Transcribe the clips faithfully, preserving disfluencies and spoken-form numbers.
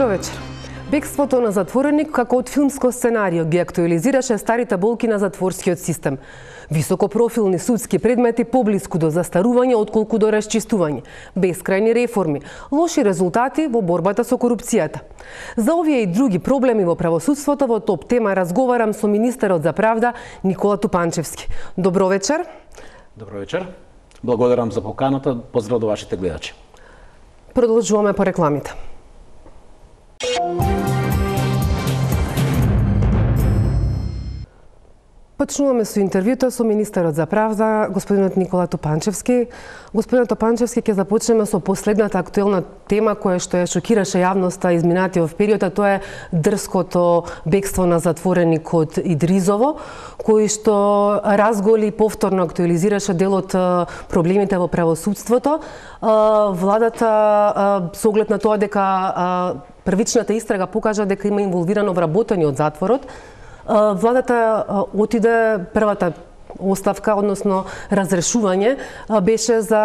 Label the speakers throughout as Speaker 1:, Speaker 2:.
Speaker 1: Добро вечер. Бегството на затвореник како од филмско сценарио ги актуализираше старите болки на затворскиот систем. Високопрофилни судски предмети поблиску до застарување отколку до расчистување, бескрајни реформи, лоши резултати во борбата со корупцијата. За овие и други проблеми во правосудството во топ тема разговарам со министерот за правда Никола Тупанчевски. Добро вечер.
Speaker 2: Добро вечер. Благодарам за поканата. Поздрав до вашите гледачи.
Speaker 1: Продолжуваме по рекламите. Почнуваме со интервјуто со министерот за правда, господинот Никола Тупанчевски. Господинот Тупанчевски, ќе започнеме со последната актуелна тема која што ја шокираше јавноста изминатиот период, а тоа е дрското бегство на затвореникот Идризово, кој што разголи и повторно актуализираше дел од проблемите во правосудството. Владата, со оглед на тоа дека првичната истрага покажа дека има инволвирано вработени од затворот, владата отиде, првата оставка, односно разрешување, беше за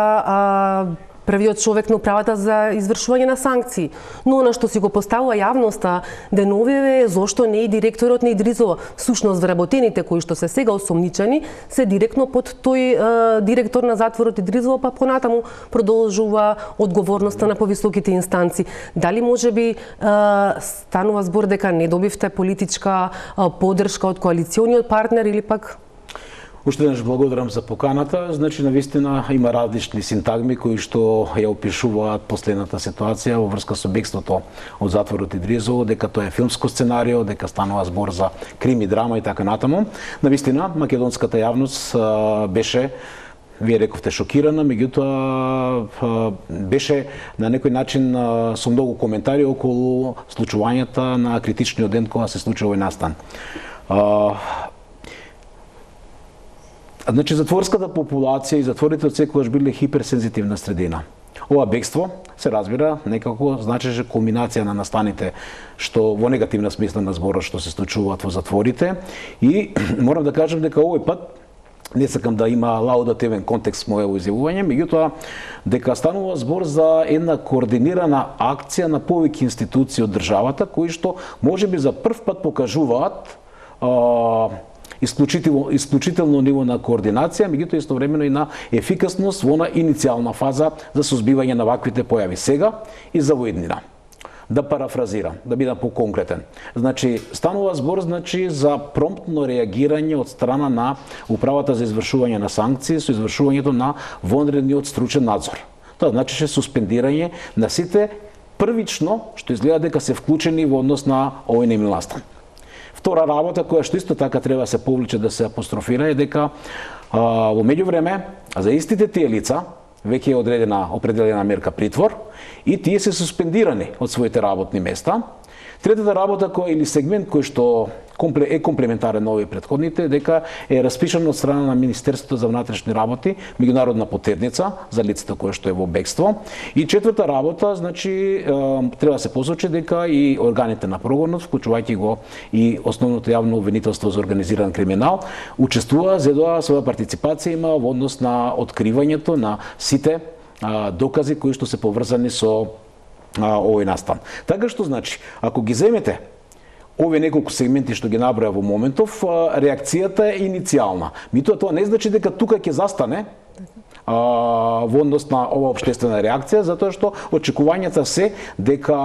Speaker 1: првиот човек на управата за извршување на санкции. Но она што си го поставува јавноста деновиве е зошто не и директорот на Идризово. Всушност вработените кои што се сега осомничени се директно под тој е, директор на затворот Идризово, па понатаму продолжува одговорноста на повисоките инстанции. Дали можеби е, станува збор дека не добивте политичка е, поддршка од коалициониот партнер или пак?
Speaker 2: Уште еднаш благодарам за поканата. Значи, навистина има различни синтагми кои што ја опишуваат последната ситуација во врска со бегството од затворот Идризово, дека тоа е филмско сценарио, дека станува збор за крими, драма и така натаму. Навистина, македонската јавност а, беше, вие рековте, шокирана, меѓутоа беше на некој начин а, со многу коментари околу случувањата на критичниот ден кога се случува овој настан. А, Значи, затворската популација и затворите од секогаш биле хиперсензитивна средина. Ова бегство, се разбира, некако значеше кулминација на настаните што во негативна смисла на зборот што се случуваат во затворите, и морам да кажам дека овој пат не сакам да има лаудативен контекст моето изјавување, меѓутоа дека станува збор за една координирана акција на повеќе институции од државата кои што можеби за прв пат покажуваат а, Исклучително, исклучително ниво на координација, меѓутоа истовремено и на ефикасност во на иницијална фаза за сузбивање на ваквите појави сега и за воеднина. Да парафразирам, да бидам поконкретен. Значи, станува збор значи за промптно реагирање од страна на управата за извршување на санкции со извршувањето на вонредниот стручен надзор. Тоа значише суспендирање на сите првично што изгледа дека се вклучени во однос на овој немил настан. Втора работа која што исто така треба да се повлече да се апострофира е дека а, во меѓувреме за истите тие лица веќе е одредена определена мерка притвор и тие се суспендирани од своите работни места. Третата работа која или сегмент кој што е комплементарен на овие претходните, дека е распишано од страна на Министерството за внатрешни работи меѓународна потерница за лицето кое што е во бегство. И четврта работа, значи треба да се посочи дека и органите на прогонот, вклучувајќи го и основното јавно обвинителство за организиран криминал, учествува за да своја партиципација има во однос на откривањето на сите а, докази кои што се поврзани со а, овој настан. Така што значи, ако ги земете овие неколку сегменти што ги наброја во моментов, реакцијата е иницијална. Меѓутоа тоа не значи дека тука ќе застане а, во однос на ова општествена реакција, затоа што очекувањата се дека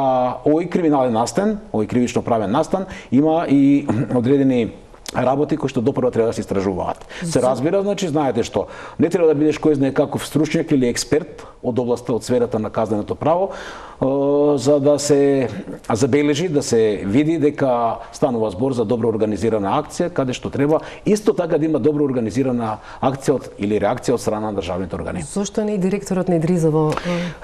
Speaker 2: овој криминален настан, овој кривично правен настан има и одредени работи кои што допрва треба да се истражуваат. Се разбира, значи, знаете што, не треба да бидеш кој знае каков стручњак или експерт од областа, од сферата на казненото право, за да се забележи, да се види дека станува збор за добро организирана акција, каде што треба исто така да има добро организирана акција од, или реакција од страна на државните органи.
Speaker 1: Зошто не и директорот на Идризово?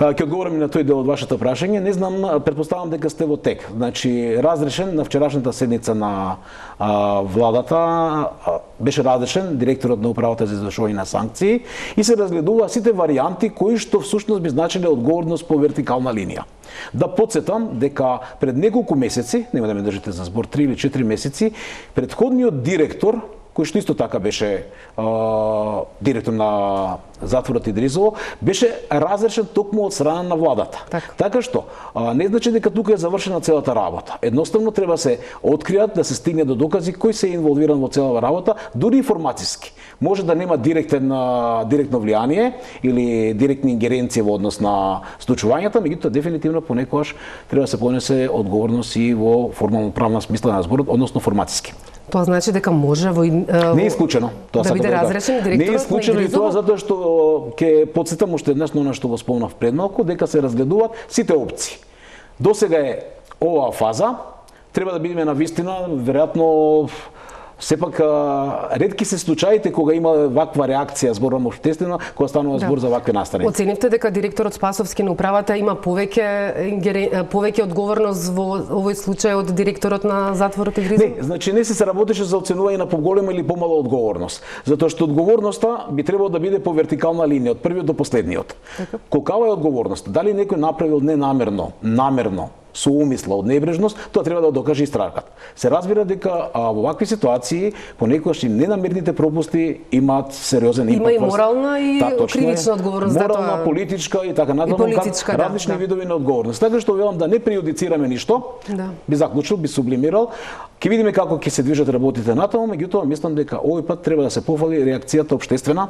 Speaker 2: Ќе одговорам и на тој дел од вашето прашање. Не знам, претпоставам дека сте во тек. Значи, разрешен на вчерашната седница на а, владата а, беше разрешен директорот на управата за извршување на санкции и се разгледува сите варијанти кои што всушност би значиле одговорност по вертикална линија. Да подсетам дека пред неколку месеци, нема да ме држите за збор, три или четири месеци, претходниот директор кој што исто така беше а, директор на затворот Идризово, беше разрешен токму од страна на владата.
Speaker 1: Так.
Speaker 2: Така што а, не значи дека тука е завршена целата работа. Едноставно треба се откријат, да се стигне до докази кој се е инволвиран во целава работа, дури информациски. Може да нема директен директно влијание или директни ингеренции во однос на случувањата, меѓутоа дефинитивно понекогаш треба да се понесе одговорност и во формално правна смисла на зборот, односно формациски.
Speaker 1: Тоа значи дека може во
Speaker 2: не е исклучено тоа
Speaker 1: да биде разрешен директорот.
Speaker 2: Не е исклучено и тоа затоа што ќе потсетам уште еднаш на она што го спомнав пред малку, дека се разгледуваат сите опции. Досега е оваа фаза, треба да бидеме на вистина, веројатно сепак ретки се случаите кога има ваква реакција зборам општествено, кога станува збор да. за вакви настани.
Speaker 1: Оценивте дека директорот Спасовски на управата има повеќе повеќе одговорност во овој случај од директорот на затворот Идризово?
Speaker 2: Не, значи не се се работеше за оценување на поголема или помала одговорност, затоа што одговорноста би требало да биде по вертикална линија од првиот до последниот. Така. Колкава е одговорноста? Дали некој направил ненамерно, намерно, со умисла од небрежност, тоа треба да докаже истрагата. Се разбира дека а, во вакви ситуации понекогаш и ненамерните пропусти имаат сериозен импакт.
Speaker 1: Има и морална и да, кривична одговорност.
Speaker 2: Морална,
Speaker 1: тоа...
Speaker 2: политичка и така натаму,
Speaker 1: да,
Speaker 2: различни
Speaker 1: да.
Speaker 2: видови на одговорност. Така што велам да не преюдицираме ништо, да. би заклучил, би сублимирал. Ќе видиме како ќе се движат работите натаму, меѓутоа мислам дека овој пат треба да се пофали реакцијата општествена,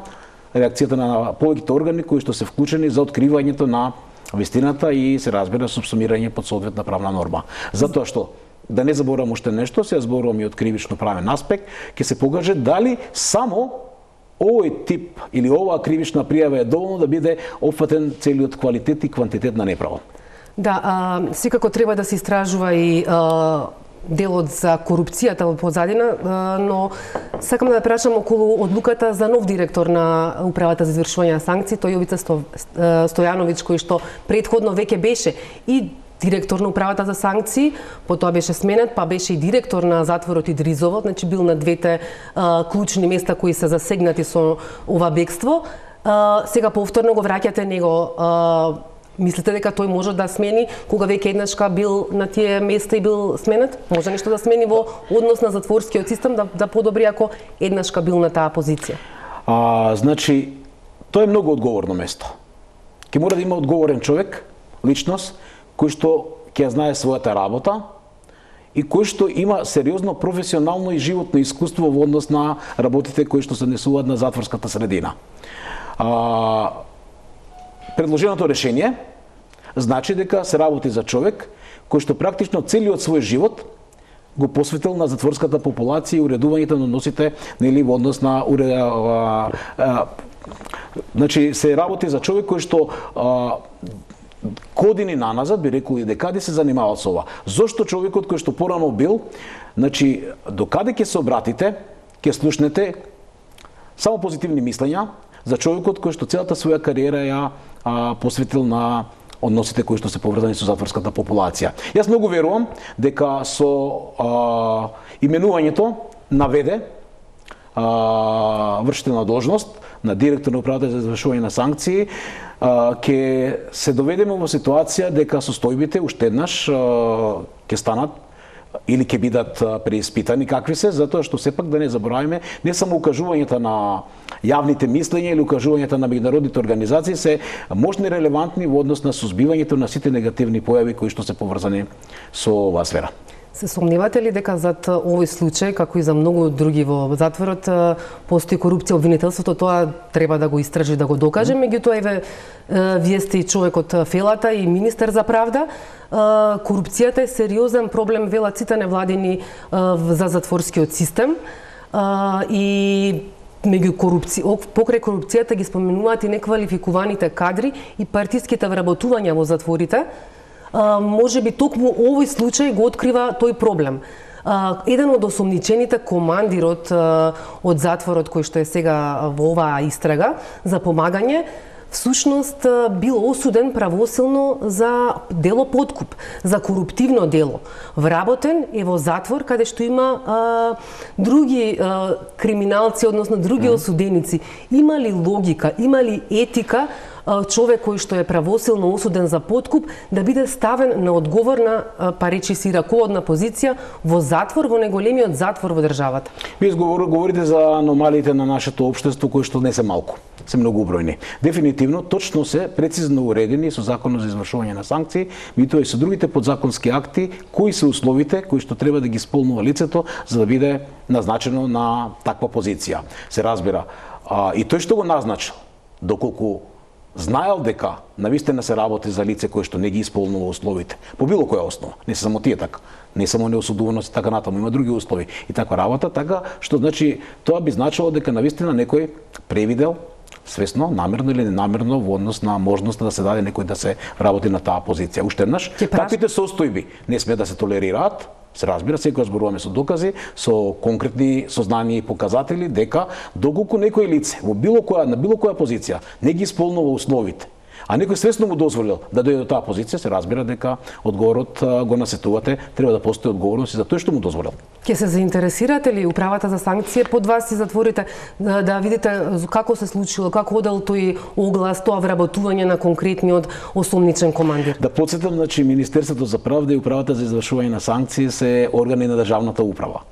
Speaker 2: реакцијата на повеќето органи кои што се вклучени за откривањето на вистината и се разбира субсумирање под соодветна правна норма. Затоа што да не заборавам уште нешто, се зборувам и од кривично правен аспект, ќе се покаже дали само овој тип или оваа кривична пријава е доволно да биде опфатен целиот квалитет и квантитет на неправо.
Speaker 1: Да, а, секако треба да се истражува и а, делот за корупцијата во позадина, но сакам да прашам околу одлуката за нов директор на управата за извршување на санкции, тој Јовица Стојановиќ, кој што претходно веќе беше и директор на управата за санкции, потоа беше сменет, па беше и директор на затворот Идризово, значи бил на двете а, клучни места кои се засегнати со ова бегство. А, сега повторно го враќате него. А, Мислите дека тој може да смени кога веќе еднашка бил на тие места и бил сменет? Може нешто да смени во однос на затворскиот систем да, да подобри ако еднашка бил на таа позиција?
Speaker 2: А, значи, тоа е многу одговорно место. Ке мора да има одговорен човек, личност, кој што ќе знае својата работа и кој што има сериозно професионално и животно искуство во однос на работите кои што се однесуваат на затворската средина. А, Предложеното решение значи дека се работи за човек кој што практично целиот свој живот го посветил на затворската популација и уредувањето на односите нели во однос на уре, а, а, значи се работи за човек кој што а, години наназад би рекол и декади се занимавал со ова. Зошто човекот кој што порано бил, значи докаде ќе се обратите, ќе слушнете само позитивни мислења за човекот кој што целата своја кариера ја а, посветил на односите кои што се поврзани со затворската популација. Јас многу верувам дека со а, именувањето наведе а, вршителна должност на директор на управата за извршување на санкции, а, ќе се доведеме во ситуација дека состојбите уште еднаш а, ќе станат или ќе бидат преиспитани какви се, затоа што сепак да не забораваме, не само укажувањата на јавните мислења или укажувањата на меѓународните организации се можни релевантни во однос на сузбивањето на сите негативни појави кои што се поврзани со оваа сфера.
Speaker 1: Се сомневате ли дека зад овој случај, како и за многу други во затворот, постои корупција, обвинителството, тоа треба да го истражи, да го докаже, меѓутоа еве вие сте и човек од Фелата и министер за правда. Корупцијата е сериозен проблем, велат сите невладини за затворскиот систем и меѓу корупција, покрај корупцијата ги споменуваат и неквалификуваните кадри и партиските вработувања во затворите. Uh, може би токму овој случај го открива тој проблем. Uh, еден од осомничените, командирот uh, од затворот кој што е сега во оваа истрага за помагање, всушност бил осуден правосилно за дело подкуп, за коруптивно дело. Вработен е во затвор каде што има а, други а, криминалци, односно други осуденици. Има ли логика, има ли етика човек кој што е правосилно осуден за подкуп да биде ставен на одговорна, па речи си раководна позиција во затвор, во најголемиот затвор во државата?
Speaker 2: Вие говорите за аномалиите на нашето општество кои што не се малку, се многу убројни. Дефинитивно точно се прецизно уредени со Законот за извршување на санкции, меѓутоа и со другите подзаконски акти, кои се условите кои што треба да ги исполнува лицето за да биде назначено на таква позиција. Се разбира, а, и тој што го назначил, доколку знаел дека навистина се работи за лице кое што не ги исполнува условите, по било која основа, не се само тие така, не само неосудуваност и така натаму, има други услови и таква работа, така што значи тоа би значило дека навистина некој превидел свесно, намерно или ненамерно во однос на можноста да се даде некој да се работи на таа позиција. Уште еднаш, таквите состојби не сме да се толерираат. Се разбира, секој зборуваме со докази, со конкретни сознанија и показатели дека доколку некој лице во било која на било која позиција не ги исполнува условите, а некој свесно му дозволил да дојде до таа позиција, се разбира дека одговорот го насетувате, треба да постои одговорност и за тој што му дозволил.
Speaker 1: Ке се заинтересирате ли управата за санкции под вас и затворите да, да видите како се случило, како одел тој оглас, тоа вработување на конкретниот осомничен командир?
Speaker 2: Да подсетам, значи Министерството за правда и управата за извршување на санкции се органи на државната управа.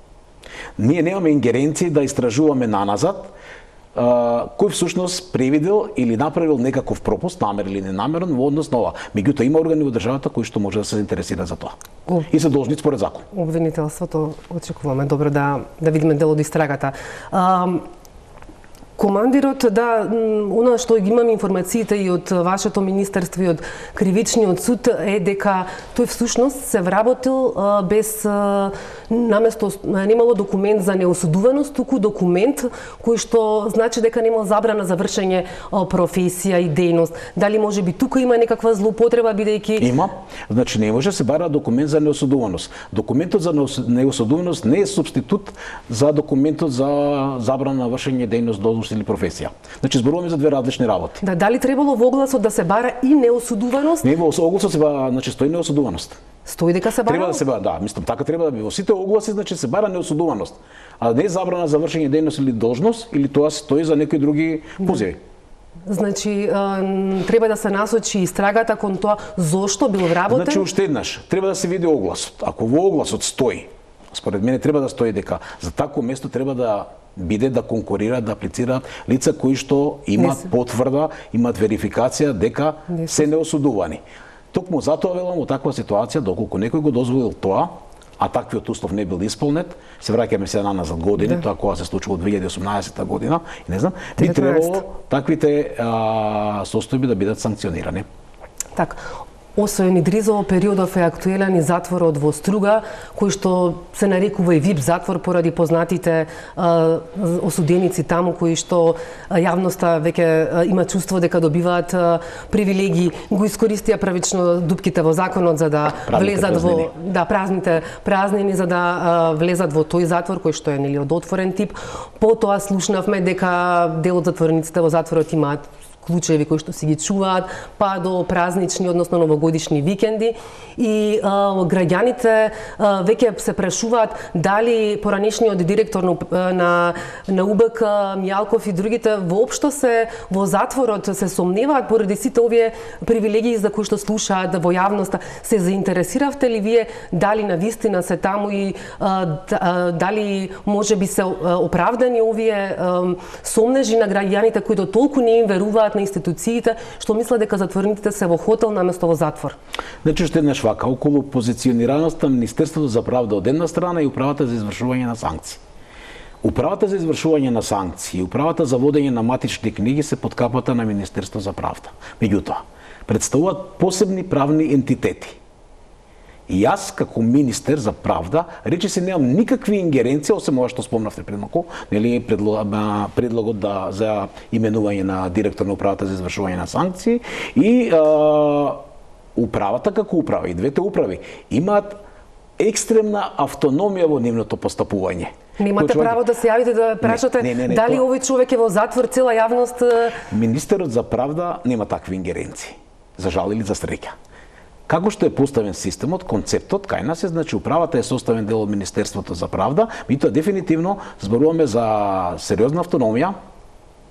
Speaker 2: Ние немаме ингеренции да истражуваме наназад кој всушност превидел или направил некаков пропуст, намер или ненамерен во однос на ова. Меѓутоа има органи во државата кои што може да се заинтересираат за тоа. О. И се должни според закон.
Speaker 1: Обвинителството очекуваме добро да да видиме дел од истрагата. А, командирот, да, она што ги имам информациите и од вашето министерство и од кривичниот суд е дека тој всушност се вработил а, без а, наместо немало документ за неосудуваност, туку документ кој што значи дека нема забрана за вршење а, професија и дејност. Дали може би тука има некаква злоупотреба бидејќи
Speaker 2: Има. Значи не може се бара документ за неосудуваност. Документот за неосудуваност не е супститут за документот за забрана на вршење дејност или професија. Значи зборуваме за две различни работи.
Speaker 1: Да, дали требало во огласот да се бара и неосудуваност?
Speaker 2: Не, во огласот се бара, значи стои неосудуваност.
Speaker 1: Стои дека се бара?
Speaker 2: Треба да се бара, да, мислам така треба да би. Во сите огласи значи се бара неосудуваност, а не забрана за вршење дејност или должност, или тоа стои за некои други позиви.
Speaker 1: Значи, треба да се насочи истрагата кон тоа зошто бил вработен?
Speaker 2: Значи уште еднаш, треба да се види огласот. Ако во огласот стои, според мене треба да стои дека за такво место треба да биде да конкурираат, да аплицираат лица кои што имаат потврда, имаат верификација дека не се неосудувани. Токму затоа велам во таква ситуација, доколку некој го дозволил тоа, а таквиот услов не бил исполнет, се враќаме се назад години, да. Тоа кога се случува во две илјади и осумнаесета година, и не знам, би требало таквите а, состојби да бидат санкционирани.
Speaker 1: Така. Освен Идризово, периодов е актуелен и затворот во Струга, кој што се нарекува и вип затвор поради познатите а, осуденици таму кои што а, јавноста веќе а, има чувство дека добиваат а, привилегии, го искористија правично дупките во законот за да празните влезат празнини. во да празните празнини за да а, влезат во тој затвор кој што е нели од отворен тип. Потоа слушнавме дека дел од затворениците во затворот имаат клучеви кои што си ги чуваат, па до празнични, односно новогодишни викенди. И а, граѓаните а, веќе се прашуваат дали поранешниот директор на, на, на УБК, Мијалков и другите воопшто се во затворот се сомневаат поради сите овие привилегии за кои што слушаат во јавноста. Се заинтересиравте ли вие дали навистина се таму и а, дали може би се оправдани овие а, сомнежи на граѓаните кои до толку не им веруваат на институциите, што мислат дека затворениците се во хотел наместо во затвор?
Speaker 2: Значи што еднаш вака, околу позиционираноста на Министерството за правда од една страна и управата за извршување на санкции. Управата за извршување на санкции и управата за водење на матични книги се под капата на Министерство за правда. Меѓутоа, представуваат посебни правни ентитети. И јас, како министер за правда, рече се немам никакви ингеренции, освен ова што спомнавте пред малку, нели предлогот да за именување на директор на управата за извршување на санкции и а, управата како управа и двете управи имаат екстремна автономија во нивното постапување.
Speaker 1: Немате право да се јавите да прашате не, не, не, дали тоа... овој човек е во затвор, цела јавност.
Speaker 2: Министерот за правда нема такви ингеренции. За жал или за среќа. Како што е поставен системот, концептот кај нас е, значи управата е составен дел од Министерството за правда, меѓутоа дефинитивно зборуваме за сериозна автономија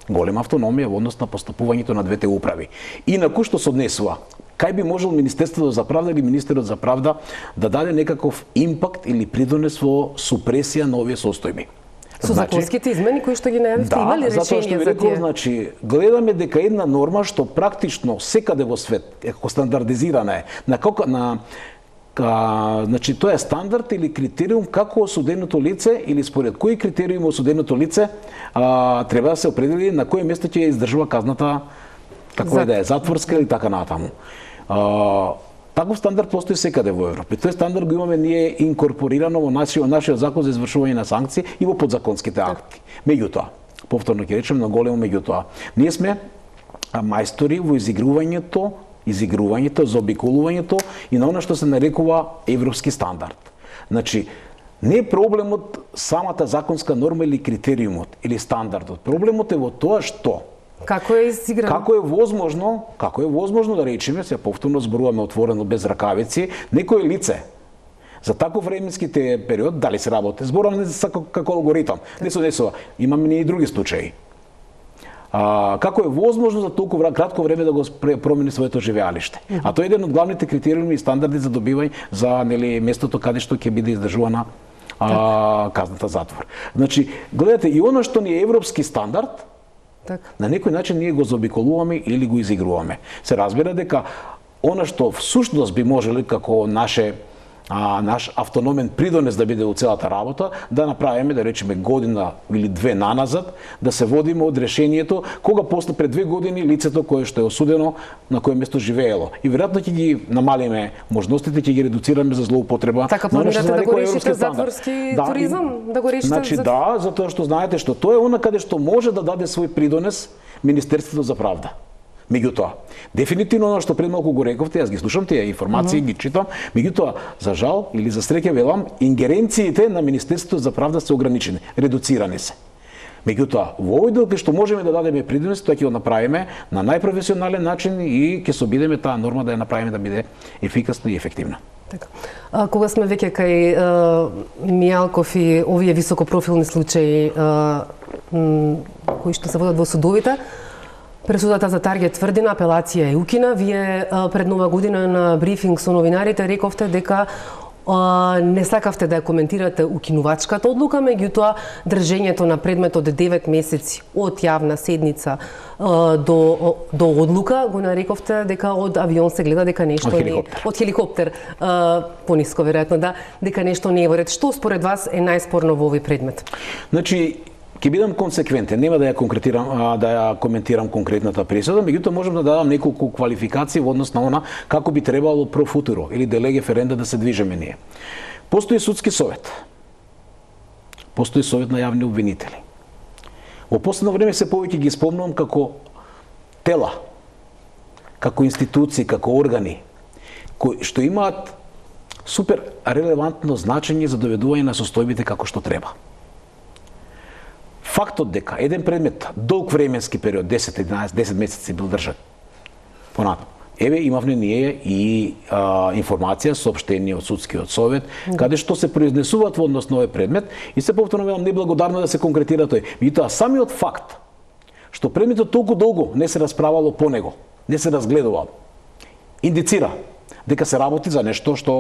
Speaker 2: Голема автономија во однос на постапувањето на двете управи. Инаку што се однесува, кај би можел Министерството за правда или Министерот за правда да даде некаков импакт или придонес во супресија на овие состојби?
Speaker 1: Со значи, законските измени кои што ги најавивте,
Speaker 2: да,
Speaker 1: има ли решение
Speaker 2: затоа што ви
Speaker 1: за
Speaker 2: рекол,
Speaker 1: тие?
Speaker 2: значи, гледаме дека една норма што практично секаде во свет, како стандардизирана е, на како на Ка, значи, тоа е стандард или критериум како осуденото лице или според кои критериум осуденото лице а, треба да се определи на кое место ќе издржува казната, како и да е, затворска или така натаму. А, таков стандард постои секаде во Европа. Тој стандард го имаме ние инкорпорирано во нашиот, нашиот закон за извршување на санкции и во подзаконските акти. Меѓутоа, повторно ќе речем на големо меѓутоа, ние сме мајстори во изигрувањето изигрувањето, заобиколувањето и на она што се нарекува европски стандард. Значи, не е проблемот самата законска норма или критериумот или стандардот. Проблемот е во тоа што
Speaker 1: Како е изиграно?
Speaker 2: Како е возможно, како е возможно да речеме, се повторно зборуваме отворено без ракавици, некое лице за таков временски период, дали се работи, зборуваме за како алгоритам, не се однесува, имаме и други случаи. А, како е возможно за толку кратко време да го промени своето живеалиште. Mm -hmm. А тоа е еден од главните критериуми и стандарди за добивање за нели местото каде што ќе биде издржувана а, казната затвор. Значи, гледате, и оно што ни е европски стандард, так. на некој начин ние го заобиколуваме или го изигруваме. Се разбира дека оно што всушност би можеле како наше а, наш автономен придонес да биде во целата работа, да направиме, да речеме, година или две наназад, да се водиме од решението кога после пред две години лицето кое што е осудено на кое место живеело. И веројатно ќе ги намалиме можностите, ќе ги редуцираме за злоупотреба.
Speaker 1: Така планирате да го решите затворски да, туризам, да го решите?
Speaker 2: Значи за... да, затоа што знаете што тоа е она каде што може да даде свој придонес Министерството за правда. Меѓутоа, дефинитивно оно што пред малку го рековте, јас ги слушам тие информации, mm -hmm. ги читам, меѓутоа, за жал или за среќа велам, ингеренциите на Министерството за правда се ограничени, редуцирани се. Меѓутоа, во овој дел кај што можеме да дадеме придонес, тоа ќе го направиме на најпрофесионален начин и ќе се обидеме таа норма да ја направиме да биде ефикасна и ефективна.
Speaker 1: Така. А, кога сме веќе кај а, Мијалков и овие високопрофилни случаи а, кои што се водат во судовите, пресудата за Таргет тврдина, апелација е укина. Вие а, пред нова година на брифинг со новинарите рековте дека а, не сакавте да ја коментирате укинувачката одлука, меѓутоа држењето на предметот девет месеци од јавна седница а, до до одлука го нарековте дека од авион се гледа дека нешто
Speaker 2: од хеликоптер.
Speaker 1: не од хеликоптер а, пониско веројатно да дека нешто не е во ред. Што според вас е најспорно во овој предмет?
Speaker 2: Значи, ќе бидам консеквентен, нема да ја конкретирам, да ја коментирам конкретната пресуда, меѓутоа можам да дадам неколку квалификации во однос на она како би требало про футуро или де леге ференда да се движеме ние. Постои судски совет. Постои совет на јавни обвинители. Во последно време се повеќе ги спомнувам како тела, како институции, како органи кои што имаат супер релевантно значење за доведување на состојбите како што треба. Фактот дека еден предмет долг временски период, десет единаесет десет месеци бил држан. Понатаму, еве имавме ние и а, информација, соопштение од судскиот совет, mm. каде што се произнесуваат во однос на овој предмет и се повторно велам неблагодарно да се конкретира тој. Меѓутоа самиот факт што предметот толку долго не се расправало по него, не се разгледувал, индицира дека се работи за нешто што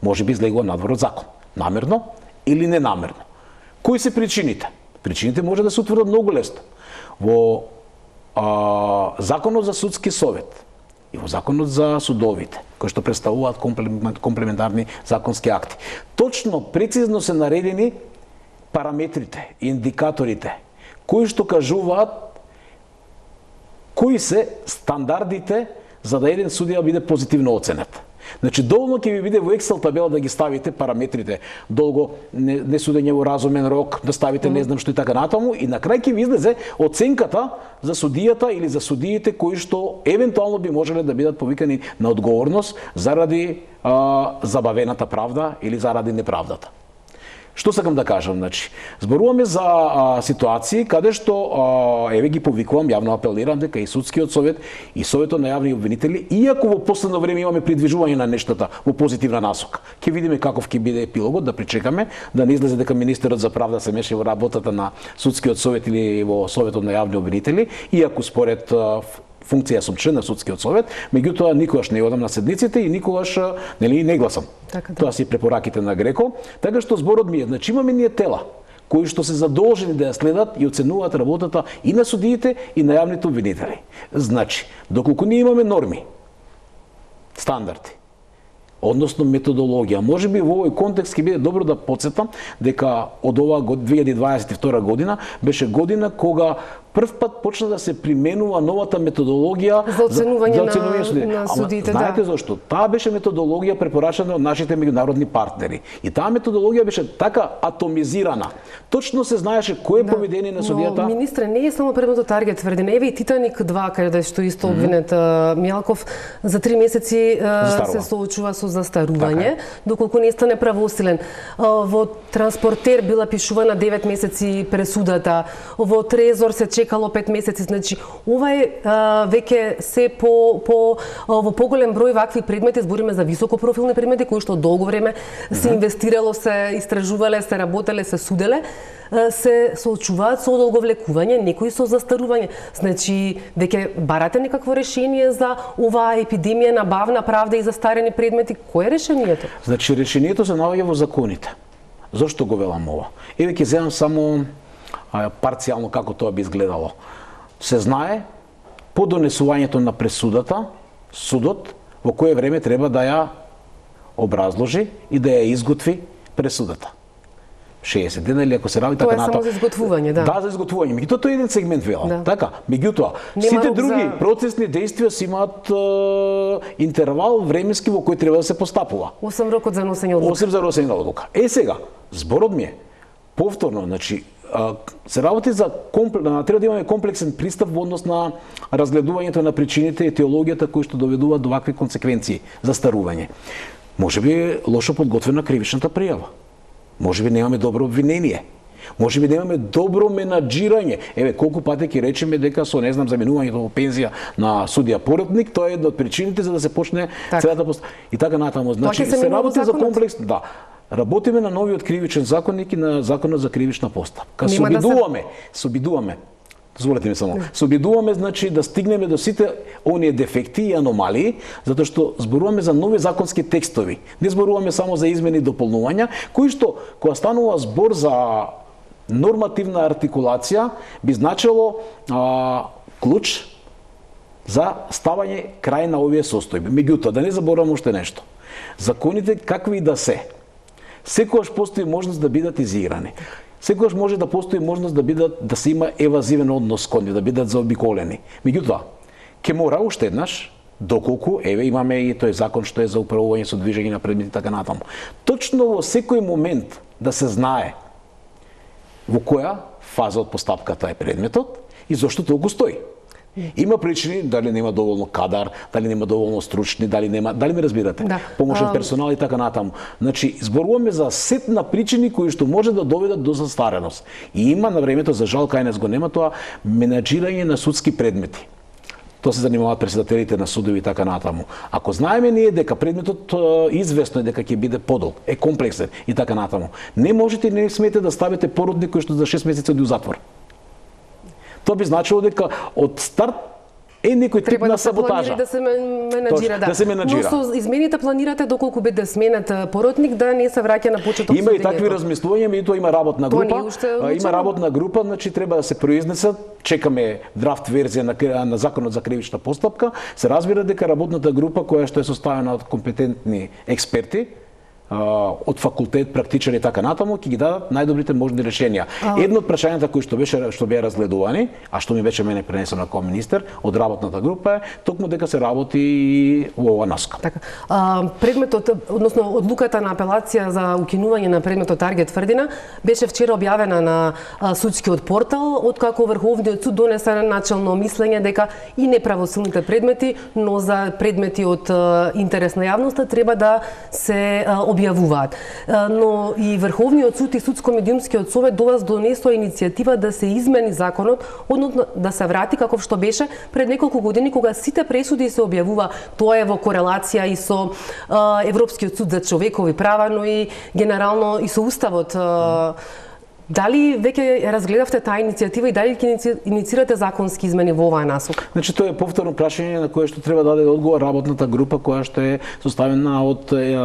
Speaker 2: може би излегува надвор од закон, намерно или ненамерно. Кои се причините? Причините може да се утврдат многу лесно. Во а, Законот за судски совет и во Законот за судовите, кои што представуваат комплементарни законски акти, точно прецизно се наредени параметрите, индикаторите, кои што кажуваат кои се стандардите за да еден судија биде позитивно оценет. Значи, доволно ќе ви биде во Excel табела да ги ставите параметрите, долго не, не судење во разумен рок, да ставите не знам што и така натаму, и на крај ќе ви излезе оценката за судијата или за судиите кои што евентуално би можеле да бидат повикани на одговорност заради а, забавената правда или заради неправдата. Што сакам да кажам, значи, зборуваме за а, ситуации каде што а, еве ги повикувам, јавно апелирам дека и судскиот совет и советот на јавни обвинители, иако во последно време имаме придвижување на нештата во позитивна насока. Ќе видиме каков ќе биде епилогот, да причекаме, да не излезе дека министерот за правда се меша во работата на судскиот совет или во советот на јавни обвинители, иако според а, функција сум член на судскиот совет, меѓутоа никогаш не одам на седниците и никогаш нели не гласам.
Speaker 1: Така, да.
Speaker 2: Тоа се препораките на Греко, така што зборот ми е, значи имаме ние тела кои што се задолжени да ја следат и оценуваат работата и на судиите и на јавните обвинители. Значи, доколку ние имаме норми, стандарди, односно методологија. Може би во овој контекст ќе биде добро да потсетам дека од оваа две илјади дваесет и втора година беше година кога прв пат почна да се применува новата методологија
Speaker 1: за оценување,
Speaker 2: за, за оценување
Speaker 1: на, на судиите.
Speaker 2: Ама, знаете
Speaker 1: да.
Speaker 2: зашто? Таа беше методологија препорачана од нашите меѓународни партнери. И таа методологија беше така атомизирана. Точно се знаеше кој е да. поведение на судијата.
Speaker 1: Но, министре, не е само предметот Таргет тврди. Еве и Титаник два, каде што исто обвинет mm -hmm. Мјалков, за три месеци uh, се соочува со застарување, така доколку не стане правосилен. Uh, во Транспортер била пишувана девет месеци пресудата, во Трезор се чекало пет месеци, значи ова е а, веќе се по по а, во поголем број вакви предмети, збориме за високопрофилни предмети кои што долго време се инвестирало, се истражувале, се работеле, се суделе, а, се соочуваат со одолговлекување, некои со застарување. Значи веќе барате некакво решение за оваа епидемија на бавна правда и застарени предмети. Кој е решението?
Speaker 2: Значи решението се наоѓа во законите. Зошто го велам ова? Еве ќе земам само парцијално како тоа би изгледало. Се знае по донесувањето на пресудата, судот во кое време треба да ја образложи и да ја изготви пресудата. шеесет дена или ако се раби така натаму.
Speaker 1: Тоа е само за изготвување, да.
Speaker 2: Да, за изготвување. Меѓутоа тоа е еден сегмент вела. Да. Така, меѓутоа сите други за... процесни действија си имаат е, интервал временски во кој треба да се постапува.
Speaker 1: осем рокот за носење одлука.
Speaker 2: осем за носење одлука. Е сега, зборот ми е повторно, значи се работи за комплек... треба да имаме комплексен пристап во однос на разгледувањето на причините и теологијата кои што доведуваат до вакви консеквенции за старување. Може би е лошо подготвена кривичната пријава. Може би немаме добро обвинение. Може би немаме добро менаџирање. Еве колку пати ќе речеме дека со не знам заминувањето во пензија на судија поротник, тоа е една од причините за да се почне целата пост... и така натаму. Значи се работи за комплекс, да. Работиме на новиот кривичен законник и на законот за кривична постапка. Се обидуваме, се обидуваме. Дозволете ми само. Се обидуваме, значи, да стигнеме до сите оние дефекти и аномалии, затоа што зборуваме за нови законски текстови. Не зборуваме само за измени и дополнувања, кои што, кога станува збор за нормативна артикулација, би значило а, клуч за ставање крај на овие состојби. Меѓутоа, да не забораваме уште нешто. Законите, какви и да се, секогаш постои можност да бидат изиграни. Секогаш може да постои можност да бидат да се има евазивен однос кон нив, да бидат заобиколени. Меѓутоа, ќе мора уште еднаш, доколку еве имаме и тој закон што е за управување со движење на предмети така натаму. Точно во секој момент да се знае во која фаза од постапката е предметот и зошто толку стои. Има причини, дали нема доволно кадар, дали нема доволно стручни, дали нема, дали ме разбирате? Да. Помошен персонал и така натаму. Значи, зборуваме за сет на причини кои што може да доведат до застареност. И има на времето, за жал кај нас го нема тоа, менаџирање на судски предмети. Тоа се занимаваат председателите на судови и така натаму. Ако знаеме ние дека предметот известно е дека ќе биде подолг, е комплексен и така натаму, не можете и не смете да ставите породник кој што за шест месеци оди у затвор. Тоа би значило дека од старт е некој тип на саботажа.
Speaker 1: Да се менаџира, да.
Speaker 2: Да се менаџира.
Speaker 1: Но со измените планирате доколку биде сменет поротник да не се враќа на почеток.
Speaker 2: Има и такви размислувања, меѓутоа има работна група. Има работна група, значи треба да се произнесат. Чекаме драфт верзија на, на законот за кривична постапка. Се разбира дека работната група која што е составена од компетентни експерти, од факултет, практичари и така натаму, ќе ги дадат најдобрите можни решенија. А... Едно од прашањата кои што беше што беа разгледувани, а што ми беше мене пренесено како министер од работната група е токму дека се работи во ова насока.
Speaker 1: Така. А, предметот, односно одлуката на апелација за укинување на предметот Таргет тврдина беше вчера објавена на а, судскиот портал, откако Врховниот суд донесе начално мислење дека и неправосилните предмети, но за предмети од а, интерес на јавноста треба да се а, објавуваат објавуваат. Но и Врховниот суд и Судско-медиумскиот совет до вас донесоа иницијатива да се измени законот, односно да се врати како што беше пред неколку години кога сите пресуди се објавува. Тоа е во корелација и со Европскиот суд за човекови права, но и генерално и со уставот. Дали веќе разгледавте таа иницијатива и дали ќе инициирате законски измени во оваа насока?
Speaker 2: Значи тоа е повторно прашање на кое што треба да даде одговор работната група која што е составена од е,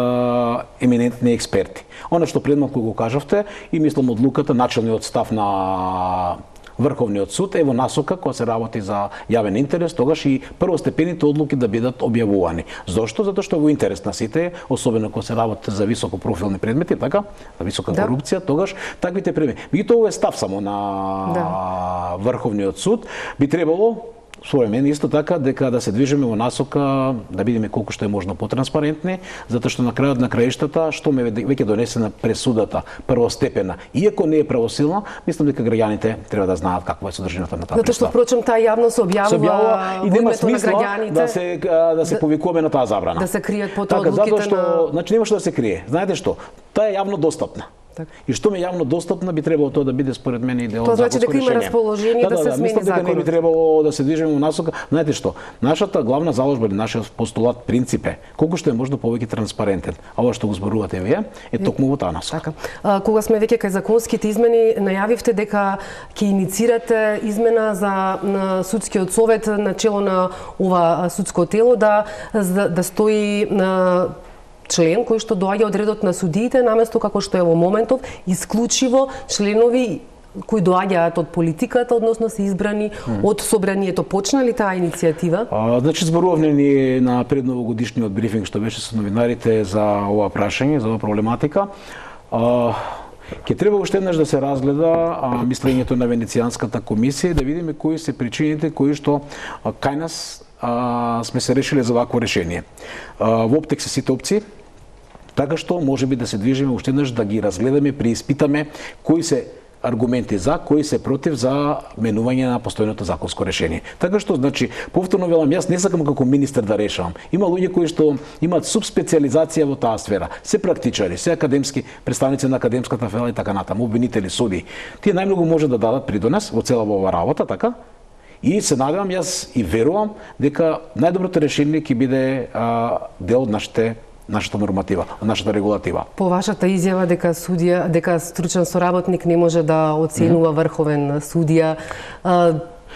Speaker 2: еминентни експерти. Она што предмалку го кажавте и мислам одлуката, начелниот став на Врховниот суд е во насока која се работи за јавен интерес, тогаш и првостепените одлуки да бидат објавувани. Зошто? Затоа што во интерес на сите, особено кога се работи за високопрофилни предмети, така, за висока да. корупција, тогаш таквите предмети. Меѓутоа ова е став само на да. Врховниот суд, би требало според мен исто така дека да се движиме во насока да бидеме колку што е можно потранспарентни, затоа што на крајот на краиштата што ме веќе донесена пресудата првостепена, иако не е правосилна, мислам дека граѓаните треба да знаат каква е содржината на таа
Speaker 1: пресуда. Затоа што впрочем таа јавно се објавува,
Speaker 2: се објавува и нема смисла да се да се повикуваме на таа забрана.
Speaker 1: Да се кријат под
Speaker 2: така,
Speaker 1: одлуките
Speaker 2: затоа што,
Speaker 1: на...
Speaker 2: значи немаше да се крие. Знаете што? Таа е јавно достапна. И што ме јавно достапна би требало тоа да биде според мене и дел од законско решение.
Speaker 1: Тоа значи дека има расположение да, да, да се смени
Speaker 2: законот. Мислам дека не би требало да се движиме во насока. Знаете што? Нашата главна заложба или нашиот постулат принцип е колку што е можно повеќе транспарентен. А ова што го зборувате вие е токму во таа насока.
Speaker 1: Така. А, кога сме веќе кај законските измени, најавивте дека ќе инициирате измена за на судскиот совет на чело на ова судско тело да да, да стои на член кој што доаѓа од редот на судиите, наместо како што е во моментов, исклучиво членови кои доаѓаат од политиката, односно се избрани mm. од собранието. Почна ли таа иницијатива?
Speaker 2: А, значи зборувавме ни на предновогодишниот брифинг што беше со новинарите за ова прашање, за оваа проблематика. А, Ке треба уште еднаш да се разгледа а, мислењето на Венецијанската комисија и да видиме кои се причините кои што а, кај нас а, сме се решиле за вакво решение. А, во оптек се сите опции, така што може би да се движиме уште еднаш да ги разгледаме, преиспитаме кои се аргументи за, кои се против за менување на постојното законско решение. Така што, значи, повторно велам, јас не сакам како министер да решавам. Има луѓе кои што имаат субспециализација во таа сфера. Се практичари, се академски представници на академската фела и така натаму, обвинители, суди. Тие најмногу може да дадат придонес во цела ова работа, така? И се надевам, јас и верувам дека најдоброто решение ќе биде а, дел од нашите нашата норматива, нашата регулатива.
Speaker 1: По вашата изјава дека судија, дека стручен соработник не може да оценува врховен судија,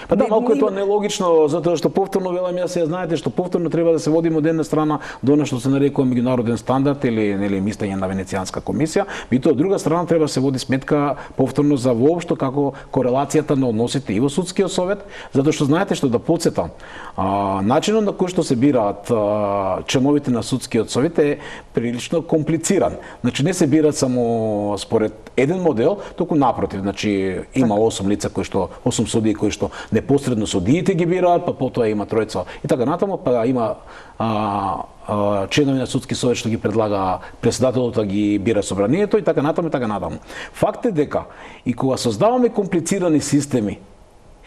Speaker 2: Па да, малку е тоа нелогично, затоа што повторно велам јас, ја знаете што повторно треба да се водиме од една страна до она што се нарекува меѓународен стандард или нели мислење на Венецијанска комисија, меѓутоа од друга страна треба да се води сметка повторно за воопшто како корелацијата на односите и во судскиот совет, затоа што знаете што да потсетам, а, начинот на кој што се бираат а, членовите на судскиот совет е прилично комплициран. Значи не се бираат само според еден модел, туку напротив, значи има осум лица кои што осум судии кои што непосредно судиите ги бираат, па потоа има тројца и така натаму, па има а, а, членови на судски совет што ги предлага председателот, да ги бира собранието и така натаму и така натаму. Факт е дека и кога создаваме комплицирани системи,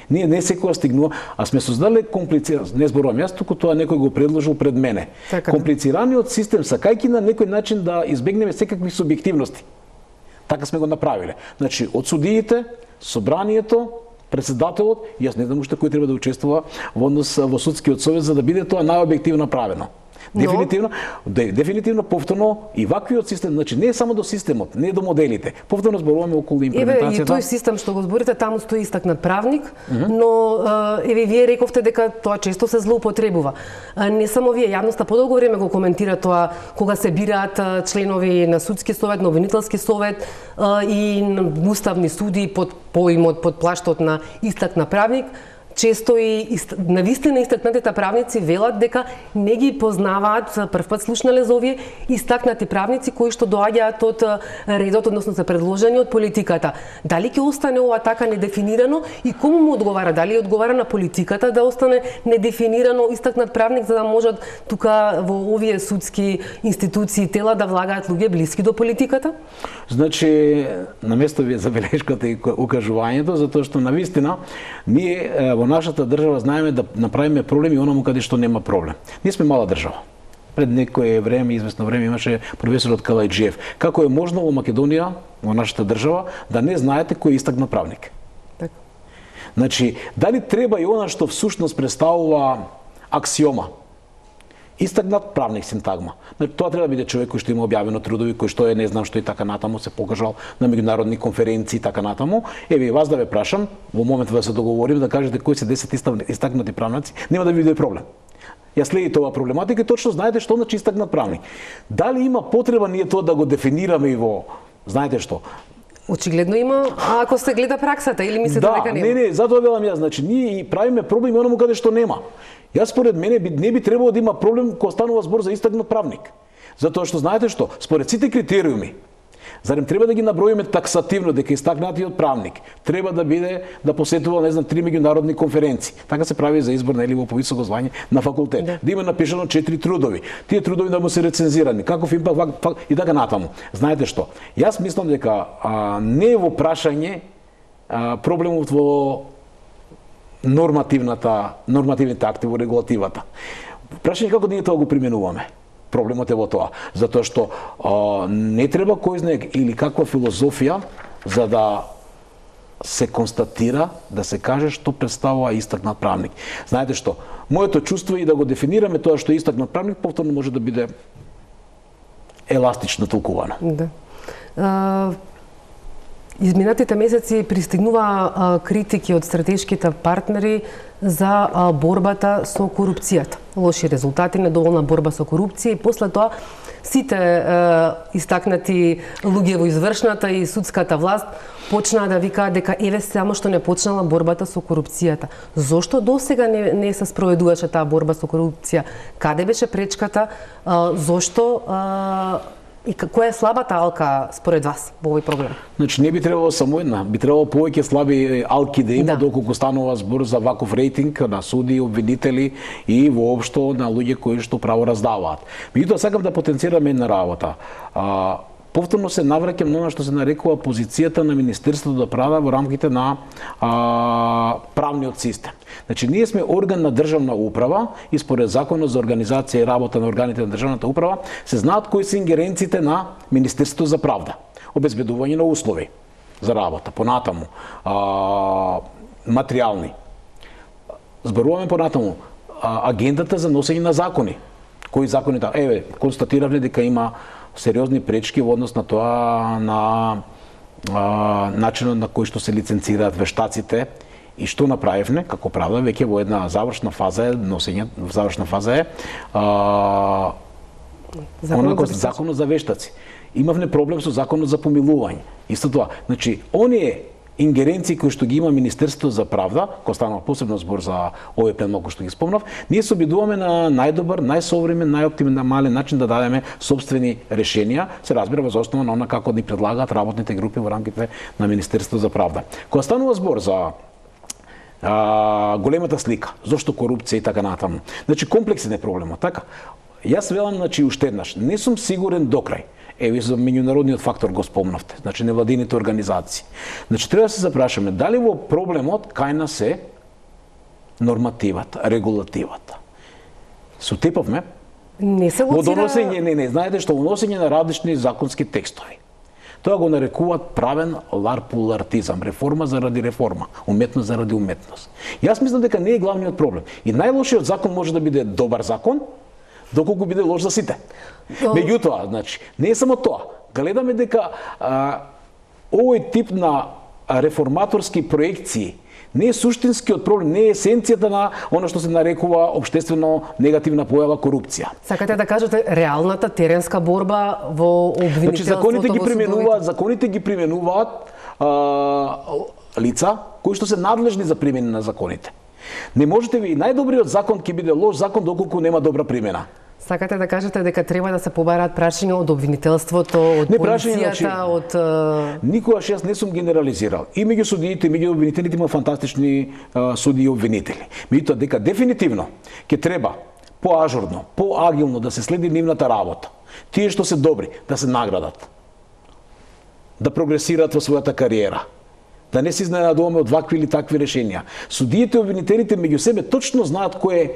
Speaker 2: ние не секоја стигнува, а сме создале комплициран, не зборувам јас, туку тоа некој го предложил пред мене.
Speaker 1: Така,
Speaker 2: комплицираниот систем сакајќи на некој начин да избегнеме секакви субјективности. Така сме го направиле. Значи, од судиите, собранието, председателот, јас не знам уште кој треба да учествува во однос во судскиот совет за да биде тоа најобјективно правено. Дефинитивно, де, дефинитивно повторно и ваквиот систем, значи не е само до системот, не е до моделите. Повторно зборуваме околу имплементацијата.
Speaker 1: Еве и тој систем што го зборите, таму стои истакнат правник, mm -hmm. но еве вие рековте дека тоа често се злоупотребува. Не само вие, јавноста подолго време го коментира тоа кога се бираат членови на судски совет, на обвинителски совет и на уставни суди под поимот, под плаштот на истакнат правник. Често и навистина истакнатите правници велат дека не ги познаваат, првпат слушнале за овие истакнати правници кои што доаѓаат од редот, односно се предложени од политиката. Дали ќе остане ова така недефинирано и кому му одговара? Дали одговара на политиката да остане недефинирано истакнат правник за да можат тука во овие судски институции и тела да влагаат луѓе блиски до политиката?
Speaker 2: Значи, на место ви е забелешката и укажувањето, затоа што навистина ние во нашата држава знаеме да направиме проблеми онаму каде што нема проблем. Ние сме мала држава. Пред некое време, известно време, имаше професорот Калајджиев. Како е можно во Македонија, во нашата држава, да не знаете кој е истакнат правник?
Speaker 1: Така.
Speaker 2: Значи, дали треба и она што всушност представува аксиома? Истакнат правник синтагма. Значи, тоа треба да биде човек кој што има објавено трудови, кој што е не знам што и така натаму се покажал на меѓународни конференции и така натаму. Еве вас да ве прашам, во моментот да се договориме да кажете кои се десет истакнати правници, нема да ви биде проблем. Ја следите оваа проблематика и точно знаете што значи истакнат правник. Дали има потреба ние тоа да го дефинираме и во, знаете што?
Speaker 1: Очигледно има, а ако се гледа праксата или мислите
Speaker 2: да,
Speaker 1: дека нема?
Speaker 2: Не, не, затоа велам јас, значи ние и правиме проблеми онаму каде што нема. Јас според мене не би требало да има проблем кога станува збор за истакнат правник. Затоа што знаете што, според сите критериуми, зарем треба да ги наброиме таксативно дека истакнатиот правник треба да биде да посетува, не знам, три меѓународни конференции. Така се прави за избор нели во повисоко звање на факултет. Да, да има напишано четири трудови. Тие трудови да му се рецензирани, каков импакт и така натаму. Знаете што? Јас мислам дека а, не е во прашање а, проблемот во нормативната нормативните акти во регулативата. Прашање како ние тоа го применуваме. Проблемот е во тоа, затоа што а, не треба кој знае или каква филозофија за да се констатира, да се каже што представува истакнат правник. Знаете што, моето чувство е да го дефинираме тоа што е истакнат правник, повторно може да биде еластично толкувано.
Speaker 1: Да. А, изминатите месеци пристигнува а, критики од стратешките партнери за а, борбата со корупцијата. Лоши резултати, недоволна борба со корупција и после тоа сите е, истакнати луѓе во извршната и судската власт почнаа да викаат дека еве само што не почнала борбата со корупцијата. Зошто досега не, не се спроведуваше таа борба со корупција? Каде беше пречката? А, зошто а, и која е слабата алка според вас во овој проблем?
Speaker 2: Значи не би требало само една, би требало повеќе слаби алки да има, да, доколку станува збор за ваков рейтинг на суди, обвинители и воопшто на луѓе кои што право раздаваат. Меѓутоа сакам да потенцираме една работа. А, повторно се навраќам на она што се нарекува позицијата на Министерството за правда во рамките на а, правниот систем. Значи, ние сме орган на државна управа и според Законот за организација и работа на органите на државната управа се знаат кои се ингеренциите на Министерството за правда. Обезбедување на услови за работа, понатаму, а, материјални. Зборуваме понатаму, а, агендата за носење на закони. Кои закони таа? Еве, констатиравме дека има сериозни пречки во однос на тоа на а, начинот на кој што се лиценцираат вештаците. И што направивме како правда веќе во една завршна фаза е носење, завршна фаза е а, онako законот за вештаци. Имавме проблем со законот за помилување. Исто тоа, значи оние ингеренции кои што ги има Министерството за правда, кој станува посебно збор за овој предмет кој што ги спомнав, ние се обидуваме на најдобар, најсовремен, најоптимален начин да дадеме собствени решенија, се разбира во основа на она како ни предлагаат работните групи во рамките на Министерството за правда. Кога станува збор за А, големата слика, зошто корупција и така натаму. Значи комплексен е проблемот, така? Јас велам, значи уште еднаш, не сум сигурен до крај. Еви за меѓународниот фактор го спомнавте, значи невладините организации. Значи треба да се запрашаме дали во проблемот кај нас е нормативата, регулативата. Сутепавме?
Speaker 1: Не се лоцира...
Speaker 2: Во доносење, не, не, знаете што, вносење на различни законски текстови. Тоа го нарекуваат правен ларпулартизам, реформа заради реформа, уметност заради уметност. Јас мислам дека не е главниот проблем. И најлошиот закон може да биде добар закон, доколку биде лош за сите. Меѓутоа, значи, не е само тоа. Гледаме дека а, овој тип на реформаторски проекции не е суштинскиот проблем, не е есенцијата на она што се нарекува општествено негативна појава корупција.
Speaker 1: Сакате да кажете реалната теренска борба во обвинителството?
Speaker 2: Значи законите ги применуваат, законите ги применуваат а, лица кои што се надлежни за примена на законите. Не можете ви најдобриот закон ќе биде лош закон доколку нема добра примена.
Speaker 1: Сакате да кажете дека треба да се побараат прашања од обвинителството, од не, полицијата, значи, од...
Speaker 2: Никогаш јас не сум генерализирал. И меѓу судиите, и меѓу обвинителите има фантастични а, суди и обвинители. Меѓутоа дека дефинитивно ќе треба поажурно, поагилно да се следи нивната работа. Тие што се добри да се наградат. Да прогресираат во својата кариера. Да не се изненадуваме од вакви или такви решенија. Судиите и обвинителите меѓу себе точно знаат кој е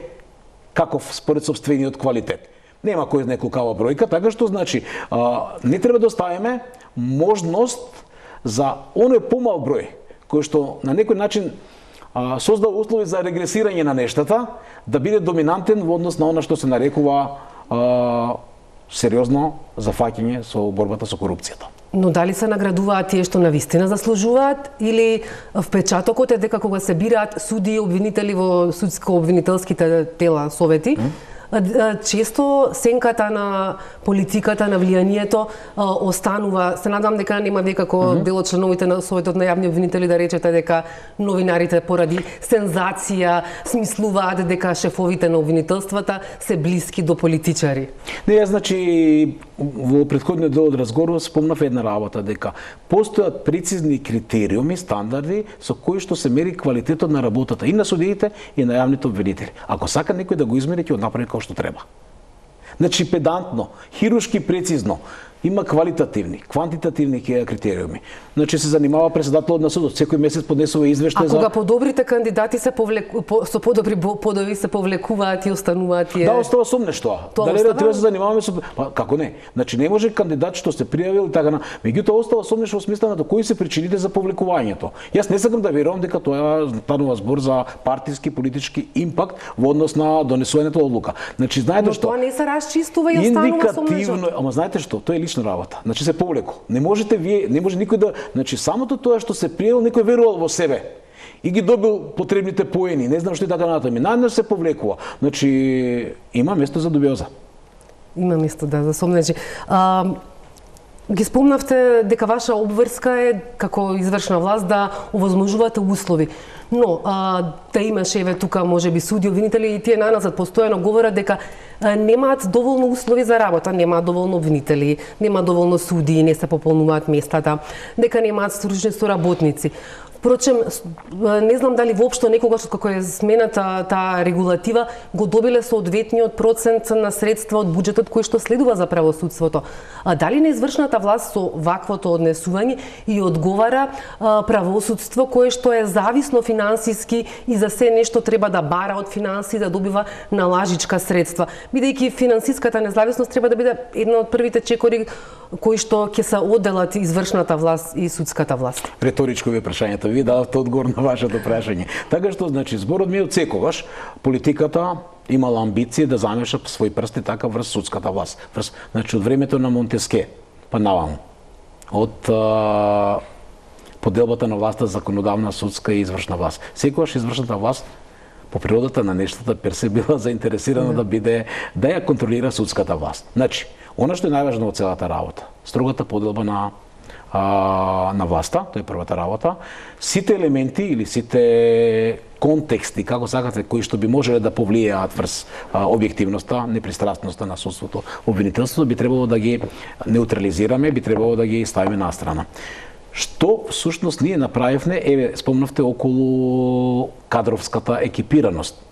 Speaker 2: каков според собствениот квалитет. Нема кој знае колкава бројка, така што значи а, не треба да оставиме можност за оној помал број кој што на некој начин а, создава услови за регресирање на нештата, да биде доминантен во однос на она што се нарекува а, сериозно зафаќање со борбата со корупцијата.
Speaker 1: Но дали се наградуваат тие што навистина заслужуваат, или впечатокот е дека кога се бираат суди и обвинители во судско-обвинителските тела, совети, mm. често сенката на политиката, на влијанието останува. Се надам дека нема вие како mm -hmm. дел од членовите на Советот на јавни обвинители да речете дека новинарите поради сензација смислуваат дека шефовите на обвинителствата се блиски до политичари.
Speaker 2: Не, значи во претходниот дел од разговорот спомнав една работа, дека постојат прецизни критериуми, стандарди со кои што се мери квалитетот на работата и на судиите и на јавните обвинители. Ако сака некој да го измери, ќе го направи како што треба. Значи педантно, хируршки прецизно, има квалитативни, квантитативни критериуми. Значи се занимава председателот на судот, секој месец поднесува извештај за...
Speaker 1: А кога подобрите кандидати се повлеку... по... со подобри подови се повлекуваат и остануваат тие...
Speaker 2: Да, остава сумнеш тоа. Дали остава... треба да се занимаваме со... Па, како не? Значи не може кандидат што се пријавил и така на... Меѓутоа остава сумнеш во смисла на кои се причините за повлекувањето. Јас не сакам да верувам дека тоа станува збор за партиски политички импакт во однос на донесувањето одлука. Значи знаете што?
Speaker 1: Но тоа не се расчистува и останува сумнешот.
Speaker 2: Ама знаете што? Тоа е лична работа. Значи се повлеко. Не можете вие, не може никој да, значи самото тоа што се приел, некој верувал во себе и ги добил потребните поени, не знам што и така натаму. Најнаш се повлекува. Значи има место за дубиоза.
Speaker 1: Има место, да, за сомнежи. А, ги спомнавте дека ваша обврска е како извршна власт да овозможувате услови. Но а, да имаше еве тука можеби суди, обвинители и тие наназад постојано говорат дека а, немаат доволно услови за работа, немаат доволно обвинители, нема доволно суди, не се пополнуваат местата, дека немаат стручни соработници. Впрочем, не знам дали воопшто некогаш како е смената таа регулатива го добиле соодветниот процент на средства од буџетот кој што следува за правосудството. А дали не извршната власт со ваквото однесување и одговара а, правосудство кое што е зависно финансиски и за се нешто треба да бара од финанси, да добива налажичка средства, бидејќи финансиската независност треба да биде една од првите чекори кои што ќе се одделат извршната власт и судската власт.
Speaker 2: Реторичко ви прашањето, ви дадовте одговор на вашето прашање. Така што, значи, зборот ми е од секогаш, политиката имала амбиција да замеша своји прсти така врз судската власт. Врз, значи, од времето на Монтеске, па наваму. Од а, поделбата на власта законодавна, судска и извршна власт. Секогаш извршната власт по природата на нештата персе била заинтересирана mm. да биде да ја контролира судската власт. Значи, она што е најважно од целата работа, строгата поделба на а, на власта, тоа е првата работа. Сите елементи или сите контексти, како сакате, кои што би можеле да повлијаат врз а, објективноста, непристрасноста на судството, обвинителството, би требало да ги неутрализираме, би требало да ги ставиме на страна. Што всушност ние направивме, еве спомнавте околу кадровската екипираност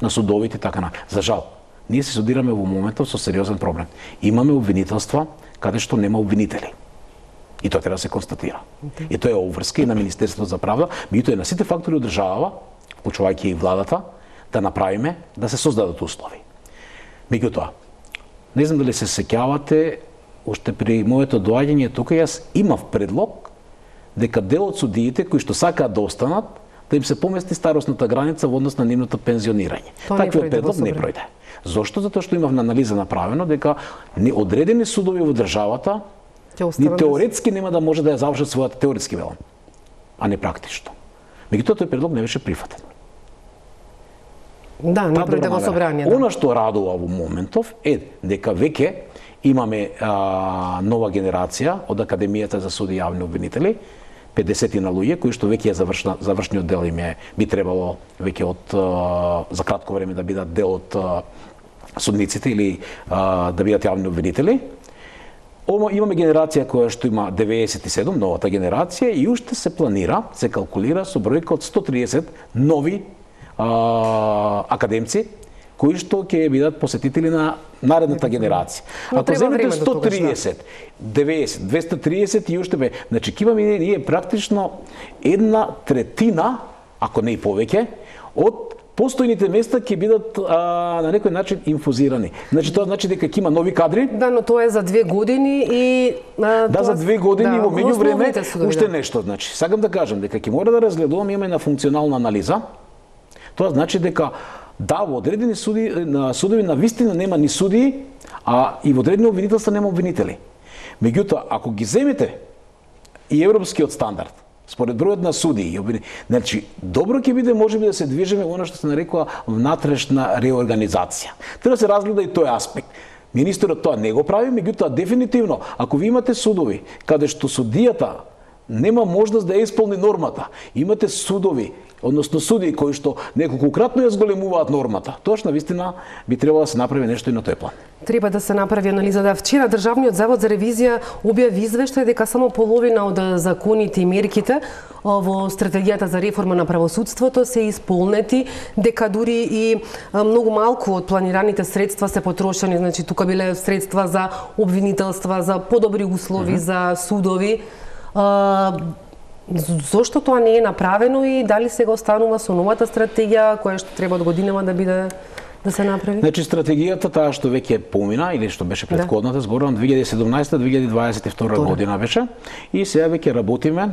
Speaker 2: на судовите така на. За жал, ние се судираме во моментов со сериозен проблем. Имаме обвинителства каде што нема обвинители. И тоа треба да се констатира. Okay. И тоа е обврска и на Министерството за правда, меѓутоа е на сите фактори од државава, вклучувајќи и владата, да направиме да се создадат услови. Меѓутоа, не знам дали се сеќавате, уште при моето доаѓање тука јас имав предлог дека дел од судиите кои што сакаат да останат, да им се помести старосната граница во однос на нивното пензионирање. Таквиот предлог не пројде. Зошто? Затоа што имав на анализа направено дека одредени судови во државата ни теоретски нема да може да ја завршат својата теоретски велам, а не практично. Меѓутоа тој предлог не беше прифатен.
Speaker 1: Да, не пројде во собрание. Да.
Speaker 2: Она што радува во моментов е дека веќе имаме а, нова генерација од Академијата за суди и јавни обвинители, педесет на луѓе кои што веќе е завршна, завршниот дел им е би требало веќе од а, за кратко време да бидат дел од а, судниците или а, да бидат јавни обвинители. Имаме генерација која што има деветдесет и седум, новата генерација, и уште се планира, се калкулира со бројка од сто триесет нови а, академци кои што ќе бидат посетители на наредната генерација. Ако земете сто триесет, деветдесет, двесте триесет и уште бе, значи ќе имаме ние практично една третина, ако не и повеќе, од постојните места ќе бидат а, на некој начин инфузирани. Значи тоа значи дека ќе има нови кадри.
Speaker 1: Да, но тоа е за две години и а,
Speaker 2: Да,
Speaker 1: тоа...
Speaker 2: за две години
Speaker 1: да,
Speaker 2: во меѓувреме
Speaker 1: судови,
Speaker 2: уште
Speaker 1: да.
Speaker 2: нешто, значи. Сакам да кажам дека ќе мора да разгледуваме имаме на функционална анализа. Тоа значи дека да, во одредени суди на судови на вистина нема ни судии, а и во одредени обвинителства нема обвинители. Меѓутоа, ако ги земете и европскиот стандард, според бројот на судии, значи добро ќе биде можеби да се движиме во она што се нарекува внатрешна реорганизација. Треба да се разгледа и тој аспект. Министерот тоа не го прави, меѓутоа дефинитивно, ако ви имате судови каде што судијата нема можност да ја исполни нормата, имате судови, односно судии кои што неколкократно ја зголемуваат нормата, тоаш навистина би требало да се направи нешто и на тој план.
Speaker 1: Треба да се направи анализа. Да, вчера Државниот завод за ревизија објави извештај дека само половина од законите и мерките во стратегијата за реформа на правосудството се исполнети, дека дури и многу малку од планираните средства се потрошени, значи тука биле средства за обвинителства, за подобри услови, mm-hmm. за судови. Зошто тоа не е направено и дали сега останува со новата стратегија која што треба од годинава да биде да се направи?
Speaker 2: Значи стратегијата таа што веќе помина или што беше претходната, да. Зборувам две илјади и седумнаесета - две илјади дваесет и втора година беше и сега веќе работиме,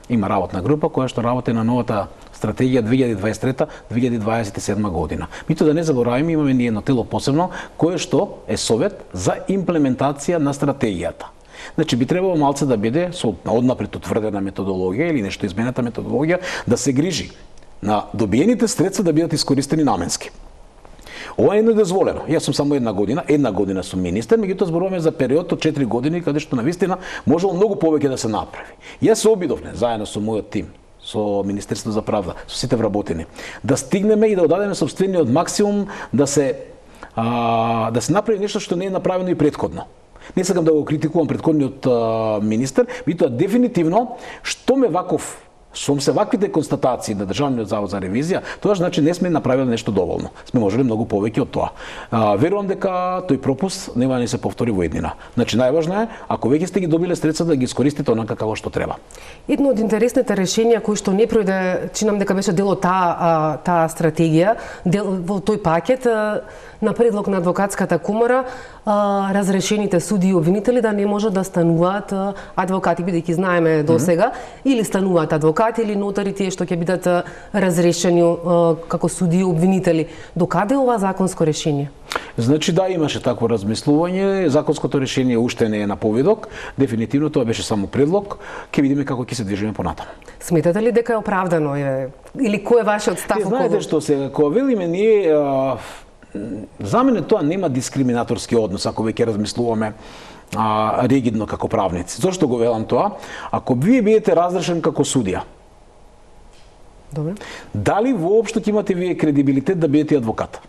Speaker 2: има работна група која што работи на новата стратегија две илјади дваесет и трета - две илјади дваесет и седма година. Мито да не забораваме, имаме ние едно тело посебно кое што е совет за имплементација на стратегијата. Значи би требало малце да биде со однапред утврдена методологија или нешто изменета методологија да се грижи на добиените средства да бидат искористени наменски. Ова е недозволено. Јас сум само една година, една година сум министер, меѓутоа зборуваме за период од четири години каде што навистина можело многу повеќе да се направи. Јас се обидовме заедно со мојот тим, со Министерството за правда, со сите вработени, да стигнеме и да одадеме собствениот максимум да се а, да се направи нешто што не е направено и претходно. Не сакам да го критикувам претходниот а, министер, меѓутоа дефинитивно што ме ваков Сум се ваквите констатации на Државниот завод за ревизија, тоа значи не сме направиле нешто доволно. Сме можеле многу повеќе од тоа. А, верувам дека тој пропуст нема да не се повтори во еднина. Значи најважно е, ако веќе сте ги добиле средства да ги искористите онака како што треба.
Speaker 1: Едно од интересните решенија кои што не пројде, чинам дека беше дел од таа таа стратегија, дел во тој пакет на предлог на адвокатската комора, разрешените суди и обвинители да не можат да стануваат адвокати, бидејќи знаеме до сега, mm-hmm. или стануваат адвокати или нотари тие што ќе бидат разрешени како суди и обвинители. Докаде е ова законско решение?
Speaker 2: Значи да, имаше такво размислување, законското решение уште не е на повидок, дефинитивно тоа беше само предлог, ќе видиме како ќе се движиме понатаму.
Speaker 1: Сметате ли дека е оправдано е или кој е вашиот став околу?
Speaker 2: Знаете што сега, кога велиме ние а, за мене тоа нема дискриминаторски однос ако веќе размислуваме а, ригидно како правници. Зошто го велам тоа? Ако вие бидете разрешен како судија,
Speaker 1: добре,
Speaker 2: дали воопшто ќе имате вие кредибилитет да бидете адвокат?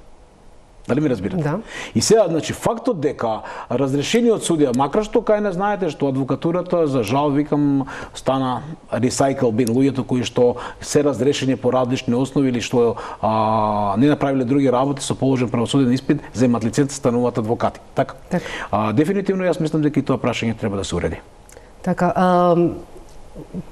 Speaker 2: Дали ми разбирате?
Speaker 1: Да.
Speaker 2: И сега, значи, фактот дека разрешениот судија, макар што кај не знаете што адвокатурата, за жал, викам, стана recycle bin, луѓето кои што се разрешени по различни основи или што а, не направиле други работи со положен правосуден испит, земат лиценца, стануваат адвокати. Така?
Speaker 1: Так.
Speaker 2: А, дефинитивно јас мислам дека и тоа прашање треба да се уреди.
Speaker 1: Така, а,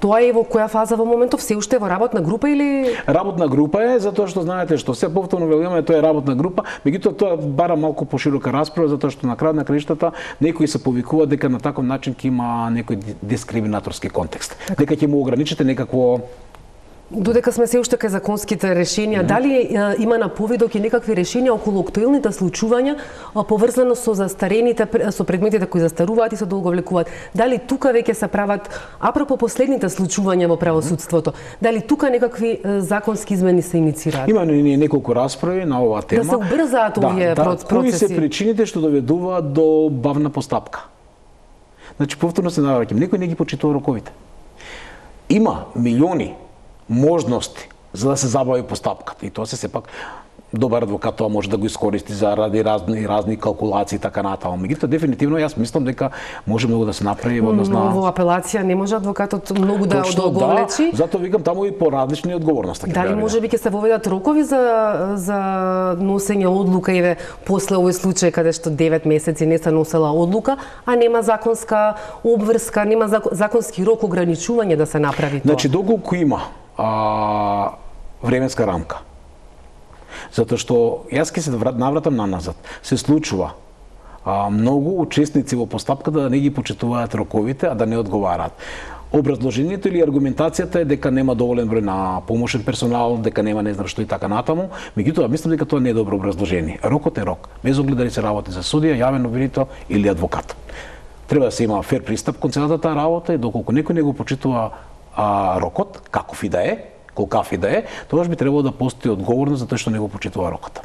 Speaker 1: тоа е во која фаза во моментов? Се уште во работна група или?
Speaker 2: Работна група е, затоа што знаете што се повторно велиме, тоа е работна група, меѓутоа тоа бара малку поширока расправа, затоа што на крај на краиштата некои се повикуваат дека на таков начин ќе има некој дискриминаторски контекст. Така. Дека ќе му ограничите некакво.
Speaker 1: Додека сме се уште кај законските решенија, mm-hmm. дали е, има на повидок и некакви решенија околу актуелните случувања поврзано со застарените, со предметите кои застаруваат и се долговлекуваат? Дали тука веќе се прават, апропо последните случувања во правосудството, дали тука некакви е, законски измени се иницираат?
Speaker 2: Има ние неколку расправи на оваа тема.
Speaker 1: Да се убрзаат овие
Speaker 2: да,
Speaker 1: процеси.
Speaker 2: Да, кои се причините што доведуваат до бавна постапка? Значи, повторно се навраќам, некој не ги почитува роковите. Има милиони можности за да се забави постапката. И тоа се сепак добар адвокат тоа може да го искористи за ради разни разни калкулации и така натаму. Меѓутоа дефинитивно јас мислам дека може многу да се направи во однос на
Speaker 1: во апелација не може адвокатот многу да одолголечи.
Speaker 2: Да, затоа викам таму и поразлични одговорности.
Speaker 1: Дали можеби ќе се воведат рокови за за носење одлука, еве после овој случај каде што девет месеци не се носела одлука, а нема законска обврска, нема законски рок ограничување да се направи тоа.
Speaker 2: Значи доколку има а, временска рамка, Затоа што јас ќе се навратам на назад. Се случува а, многу учесници во постапката да не ги почитуваат роковите, а да не одговараат. Образложението или аргументацијата е дека нема доволен број на помошен персонал, дека нема не знам што и така натаму, меѓутоа мислам дека тоа не е добро образложение. Рокот е рок, без оглед дали се работи за судија, јавен обвинител или адвокат. Треба да се има фер пристап кон целата таа работа и доколку некој не го почитува а, рокот, каков и да е, колкав и да е, тогаш би требало да постои одговорност за тоа што не го почитува рокот.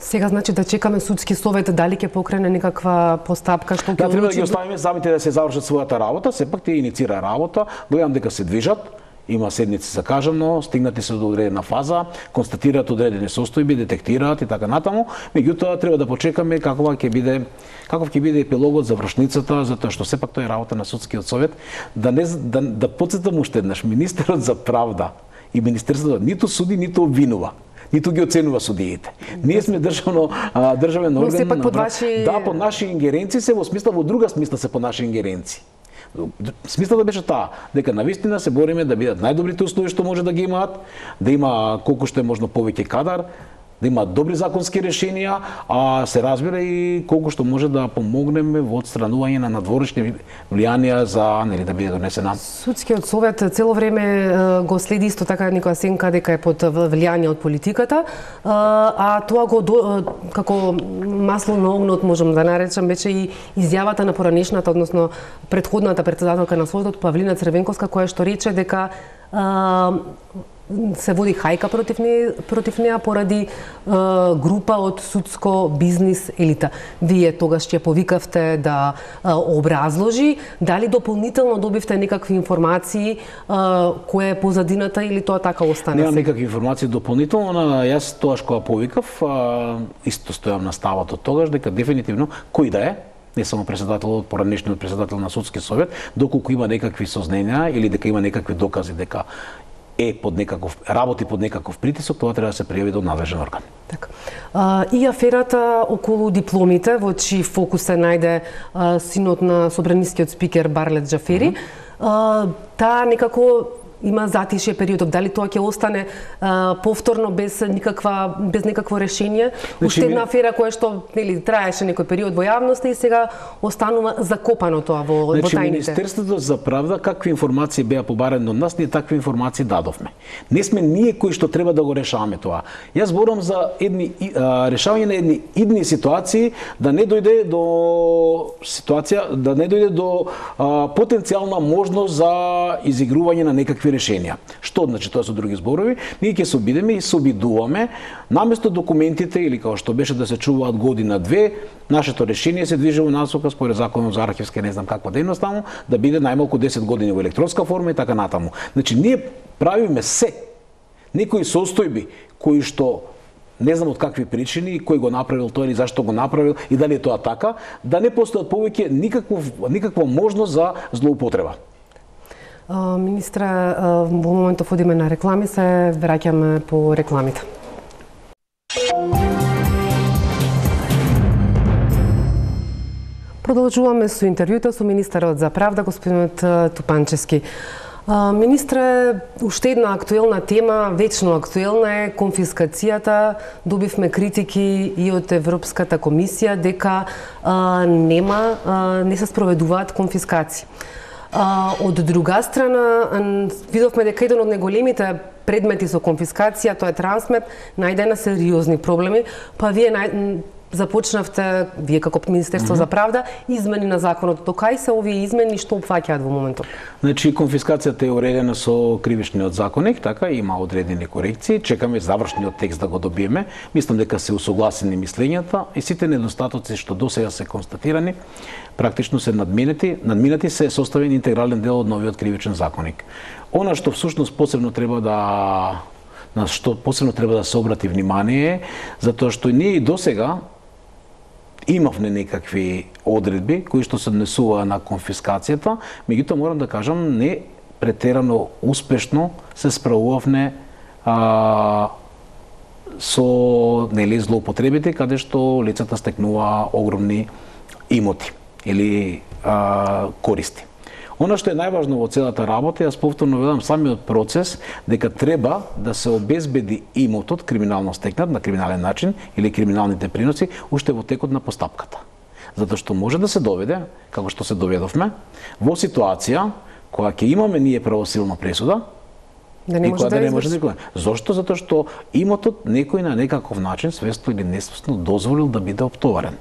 Speaker 1: Сега значи да чекаме судски совет дали ќе покрене некаква постапка што ќе
Speaker 2: да, треба да ги оставиме самите да се завршат својата работа, сепак тие иницира работа, гледам дека се движат, има седници закажано, стигнати се до одредена фаза, констатираат одредени состојби, детектираат и така натаму, меѓутоа треба да почекаме какова ќе биде каков ќе биде епилогот, завршницата, затоа што сепак тоа е работа на судскиот совет, да не да, да потсетам уште еднаш, министерот за правда и министерството ниту суди, ниту обвинува, ниту ги оценува судиите. Ние сме државно државен орган. Но
Speaker 1: сепак под ваши
Speaker 2: Да, под наши ингеренции се во смисла, во друга смисла се под наши ингеренции. Смислата беше таа, дека навистина се бориме да бидат најдобрите услови што може да ги имаат, да има колку што е можно повеќе кадар, да има добри законски решенија, а се разбира и колку што може да помогнеме во отстранување на надворешни влијанија за нели да биде донесена.
Speaker 1: Судскиот совет цело време го следи исто така некоја сенка дека е под влијание од политиката, а тоа го до, како масло на огнот можам да наречам беше и изјавата на поранешната, односно претходната претседателка на Советот Павлина Црвенковска, која што рече дека се води хајка против неја, против неја поради е, група од судско бизнис елита. Вие тогаш ќе повикавте да е, образложи, дали дополнително добивте некакви информации е, која е позадината или тоа така остана?
Speaker 2: Немам никакви информации дополнително, но јас тогаш кога повикав, а, исто стојам на ставот од тогаш дека дефинитивно кој да е, не само председателот, поранешниот председател на судски совет, доколку има некакви созненија или дека има некакви докази дека е под некаков работи под некаков притисок, тоа треба да се пријави до надлежен орган.
Speaker 1: Така. А, и аферата околу дипломите, во чиј фокус се најде а, синот на собранискиот спикер Барлет Џафери, mm -hmm. таа некако има затишје периодот. Дали тоа ќе остане а, повторно без никаква без никакво решение? Уште една афера која што нели траеше некој период во јавноста и сега останува закопано тоа во,
Speaker 2: значи,
Speaker 1: во тајните.
Speaker 2: Министерството за правда какви информации беа побарани од нас, ние такви информации дадовме. Не сме ние кои што треба да го решаваме тоа. Јас зборам за едни а, решавање на едни идни ситуации, да не дојде до ситуација, да не дојде до а, потенцијална можност за изигрување на некакви решенија. Што значи тоа со други зборови? Ние ќе се обидеме и се обидуваме наместо документите или како што беше да се чуваат година две, нашето решение се движи во насока според законот за архивска не знам каква дејност таму, да биде најмалку десет години во електронска форма и така натаму. Значи ние правиме се некои состојби кои што не знам од какви причини, кој го направил тоа или зашто го направил и дали е тоа така, да не постојат повеќе никаков никаква можност за злоупотреба.
Speaker 1: Министра, во моментов одиме на реклами, се враќаме по рекламите. Продолжуваме со интервјуто со министерот за правда, господинот Тупанчевски. Министре, уште една актуелна тема, вечно актуелна е конфискацијата. Добивме критики и од Европската комисија дека а, нема, а, не се спроведуваат конфискации. А, од друга страна, видовме дека еден од најголемите предмети со конфискација, тоа е Трансмет, најде на сериозни проблеми, па вие нај... започнавте, вие како Министерство mm -hmm. за правда, измени на законот. До кај се овие измени, што опфаќаат во моментот?
Speaker 2: Значи, конфискацијата е уредена со кривичниот законник, така, има одредени корекции, чекаме завршниот текст да го добиеме. Мислам дека се усогласени мислењата и сите недостатоци што досега се констатирани, практично се надминати, надминати се составен интегрален дел од новиот кривичен законник. Она што всушност посебно треба да на што посебно треба да се обрати внимание, затоа што ние и досега имавме некакви одредби кои што се однесуваа на конфискацијата, меѓутоа морам да кажам не претерано успешно се справувавме а, со нели злоупотребите каде што лицата стекнуваа огромни имоти или а, користи. Она што е најважно во целата работа, јас повторно велам самиот процес, дека треба да се обезбеди имотот криминално стекнат на криминален начин или криминалните приноси уште во текот на постапката. Затоа што може да се доведе, како што се доведовме, во ситуација која ќе имаме ние правосилна пресуда,
Speaker 1: да не може да,
Speaker 2: да не може да. Зошто? Затоа што имотот некој на некаков начин, свесно или несвесно, дозволил да биде оптоварен.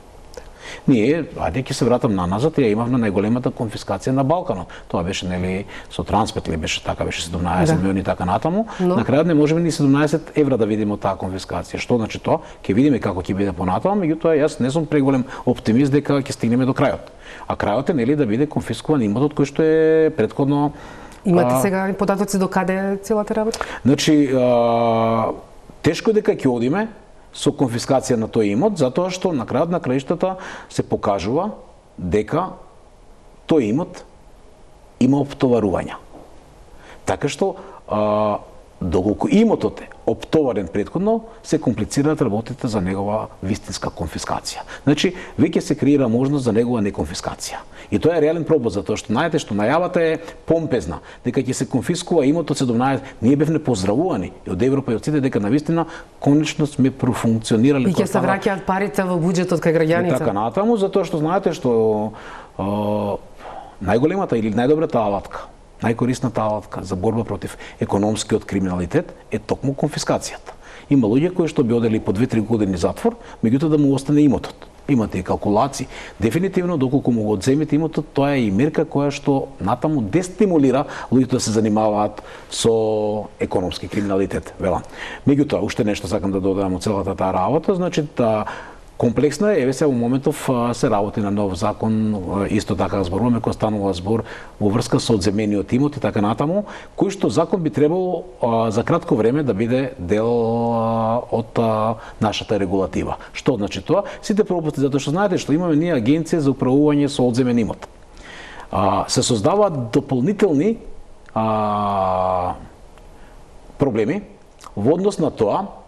Speaker 2: Ние, ајде ќе се вратам на назад, ја имавме најголемата конфискација на Балканот. Тоа беше нели со Транспет ли беше така, беше седумнаесет милиони и така натаму. Но... На крајот не можеме ни седумнаесет евра да видиме од таа конфискација. Што значи тоа? Ќе видиме како ќе биде понатаму, меѓутоа јас не сум преголем оптимист дека ќе стигнеме до крајот. А крајот е нели да биде конфискуван имотот кој што е претходно.
Speaker 1: Имате а... сега податоци до каде е целата работа?
Speaker 2: Значи, а... тешко е дека ќе одиме со конфискација на тој имот, затоа што на крајот на краиштата се покажува дека тој имот има оптоварувања. Така што, а, доколку имотот е оптоварен претходно, се комплицираат работите за негова вистинска конфискација. Значи, веќе се креира можност за негова неконфискација. И тоа е реален проблем, затоа што знаете што најавата е помпезна, дека ќе се конфискува имотот седумнаесет. Ние бевме поздравувани и од Европа и од сите дека навистина конечно сме профункционирали.
Speaker 1: И ќе се враќаат парите во буџетот кај граѓаните.
Speaker 2: И така натаму, затоа што знаете што а, најголемата или најдобрата алатка, најкорисната алатка за борба против економскиот криминалитет е токму конфискацијата. Има луѓе кои што би одели по две-три години затвор, меѓутоа да му остане имотот. Имате и калкулации. Дефинитивно, доколку му го одземете имотот, тоа е и мерка која што натаму дестимулира луѓето да се занимаваат со економски криминалитет, велам. Меѓутоа, уште нешто сакам да додадам од целата таа работа, значи та комплексна е, еве се во моментов се работи на нов закон, исто така зборуваме кој станува збор во врска со одземениот имот и така натаму, кој што закон би требало а, за кратко време да биде дел а, од а, нашата регулатива. Што значи тоа? Сите пропусти, затоа што знаете што имаме ние агенција за управување со одземен имот. А, се создаваат дополнителни а, проблеми во однос на тоа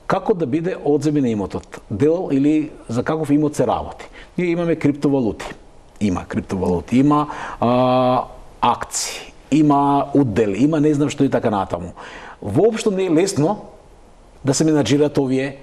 Speaker 2: како да биде одземен имотот, дел или за каков имот се работи. Ние имаме криптовалути, има криптовалути, има а, акции, има удели, има не знам што и така натаму. Воопшто не е лесно да се менаџираат овие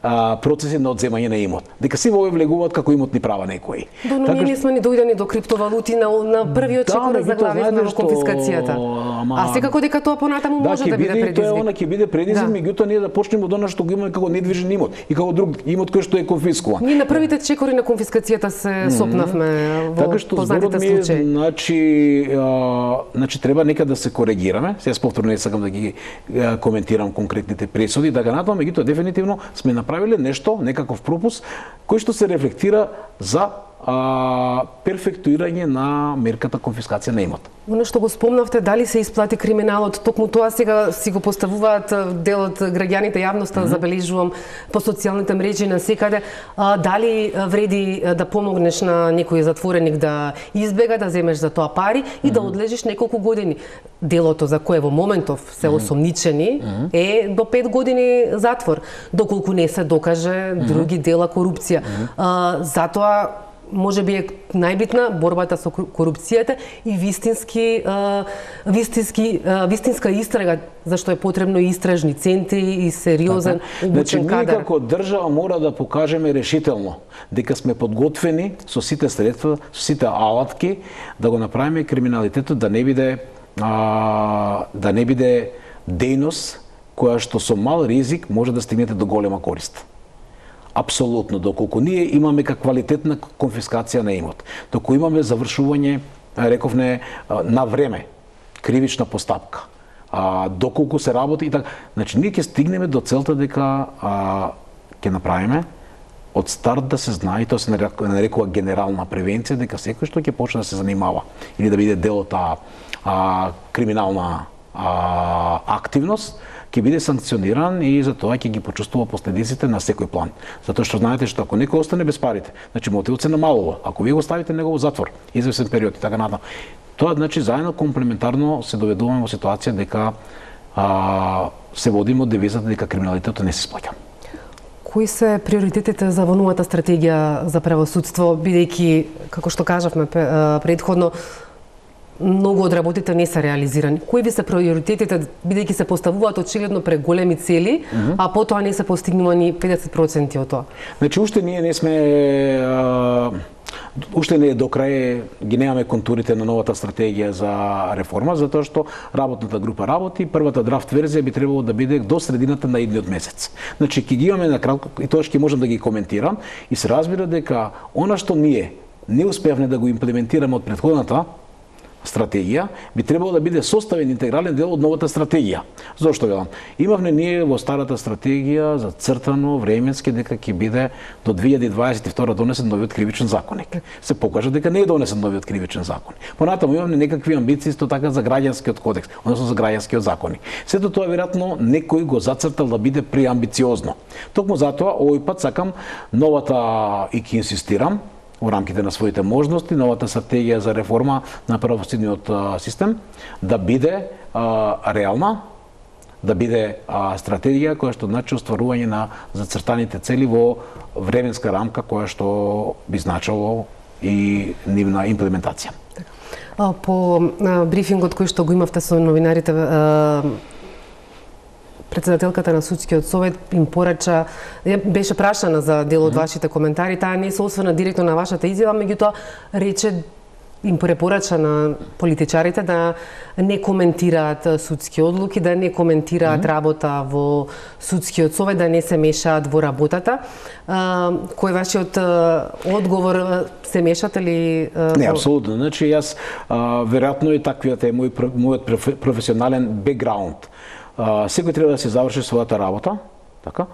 Speaker 2: а, процеси на одземање на имот. Дека си во овие влегуваат како имотни права некои.
Speaker 1: Но така, ние не сме ни дојдени до криптовалути на, на првиот да, чекор заглавивме во конфискацијата. Ама... А секако дека тоа понатаму
Speaker 2: да,
Speaker 1: може да биде предизвик.
Speaker 2: Тоа она ќе биде предизвик, да. Меѓутоа ние да почнеме од она што го имаме како недвижен имот и како друг имот кој што е конфискуван.
Speaker 1: Ние на првите чекори на конфискацијата се mm -hmm. сопнавме во така што познатите случаи.
Speaker 2: Значи, а, значи треба нека да се коригираме. Сега повторно не сакам да ги а, коментирам конкретните пресуди, така натаму, меѓутоа дефинитивно сме направиле нешто, некаков пропуск кој што се рефлектира за а, перфектуирање на мерката конфискација на имот.
Speaker 1: Оно што го спомнавте, дали се исплати криминалот, токму тоа сега си го поставуваат дел од граѓаните, јавноста, mm -hmm. забележувам по социјалните мрежи на секаде, а, дали вреди да помогнеш на некој затвореник да избега, да земеш за тоа пари и mm -hmm. да одлежиш неколку години. Делото за кое во моментов се осомничени mm -hmm. е до пет години затвор, доколку не се докаже mm -hmm. други дела корупција. Mm -hmm. а, затоа може би е најбитна борбата со корупцијата и вистински, а, вистински, а, вистинска истрага, зашто е потребно и истражни центри и сериозен обучен кадар.
Speaker 2: Значи, ние како држава мора да покажеме решително дека сме подготвени со сите средства, со сите алатки да го направиме криминалитетот да не биде а, да не биде дејност која што со мал ризик може да стигнете до голема корист. Апсолутно, доколку ние имаме квалитетна конфискација на имот, доколку имаме завршување, рековне, на време, кривична постапка, а, доколку се работи и така, значи ние ќе стигнеме до целта дека а, ќе направиме од старт да се знае, тоа се нарекува генерална превенција, дека секој што ќе почне да се занимава или да биде дел од таа криминална а, активност, ќе биде санкциониран и за тоа ќе ги почувствува последиците на секој план. Затоа што знаете што ако некој остане без парите, значи мотивот се намалува. Ако вие го ставите него во затвор, извесен период и така натаму, тоа значи заедно комплементарно се доведуваме во ситуација дека а, се водиме од девизата дека криминалитетот не се сплаќа.
Speaker 1: Кои се приоритетите за во новата стратегија за правосудство, бидејќи, како што кажавме предходно, многу од работите не се реализирани. Кои ви се приоритетите, бидејќи се поставуваат очигледно преголеми цели, mm -hmm. а потоа не се постигнувани педесет проценти од тоа?
Speaker 2: Значи, уште ние не сме... А... Уште не е до крај, ги немаме контурите на новата стратегија за реформа, затоа што работната група работи, првата драфт верзија би требало да биде до средината на идниот месец. Значи, ќе ги имаме на кратко, и тоа ќе можам да ги коментирам, и се разбира дека она што ние не успеавме да го имплементираме од претходната стратегија, би требало да биде составен интегрален дел од новата стратегија. Зошто велам? Имавме ние во старата стратегија зацртано временски дека ќе биде до две илјади дваесет и втора донесен новиот кривичен законник. Се покажа дека не е донесен новиот кривичен законник. Понатаму имавме некакви амбиции исто така за граѓанскиот кодекс, односно за граѓанскиот законник. Сето тоа веројатно некој го зацртал да биде преамбициозно. Токму затоа овој пат сакам новата, и ќе инсистирам, во рамките на своите можности, новата стратегија за реформа на правосудниот систем да биде а, реална, да биде а, стратегија која што значи остварување на зацртаните цели во временска рамка која што би значило и нивна имплементација.
Speaker 1: По брифингот кој што го имавте со новинарите, председателката на судскиот совет им порача, беше прашана за дел од вашите коментари, таа не се осврна директно на вашата изјава, меѓутоа рече, им препорача на политичарите да не коментираат судски одлуки, да не коментираат mm -hmm. работа во судскиот совет, да не се мешаат во работата. Кој е вашиот одговор? Се мешате ли?
Speaker 2: Не, апсолутно. Значи, јас, веројатно и таквиот е мој, мојот професионален бекграунд. Секој треба да се заврши својата работа, така?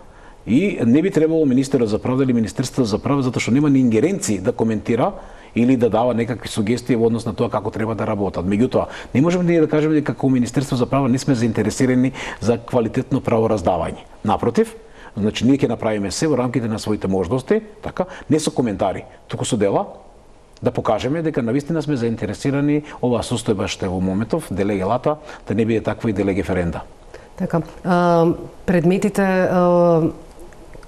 Speaker 2: И не би требало министерот за правда или Министерството за правда, затоа што нема ни ингеренции да коментира или да дава некакви сугестии во однос на тоа како треба да работат. Меѓутоа, не можеме ние да кажеме дека како Министерство за правда не сме заинтересирани за квалитетно правораздавање. Напротив, значи ние ќе направиме се во рамките на своите можности, така, не со коментари, туку со дела, да покажеме дека навистина сме заинтересирани оваа состојба што е во моментов, делеге лата, да не биде таква и делеге ференда.
Speaker 1: Така, а, предметите а,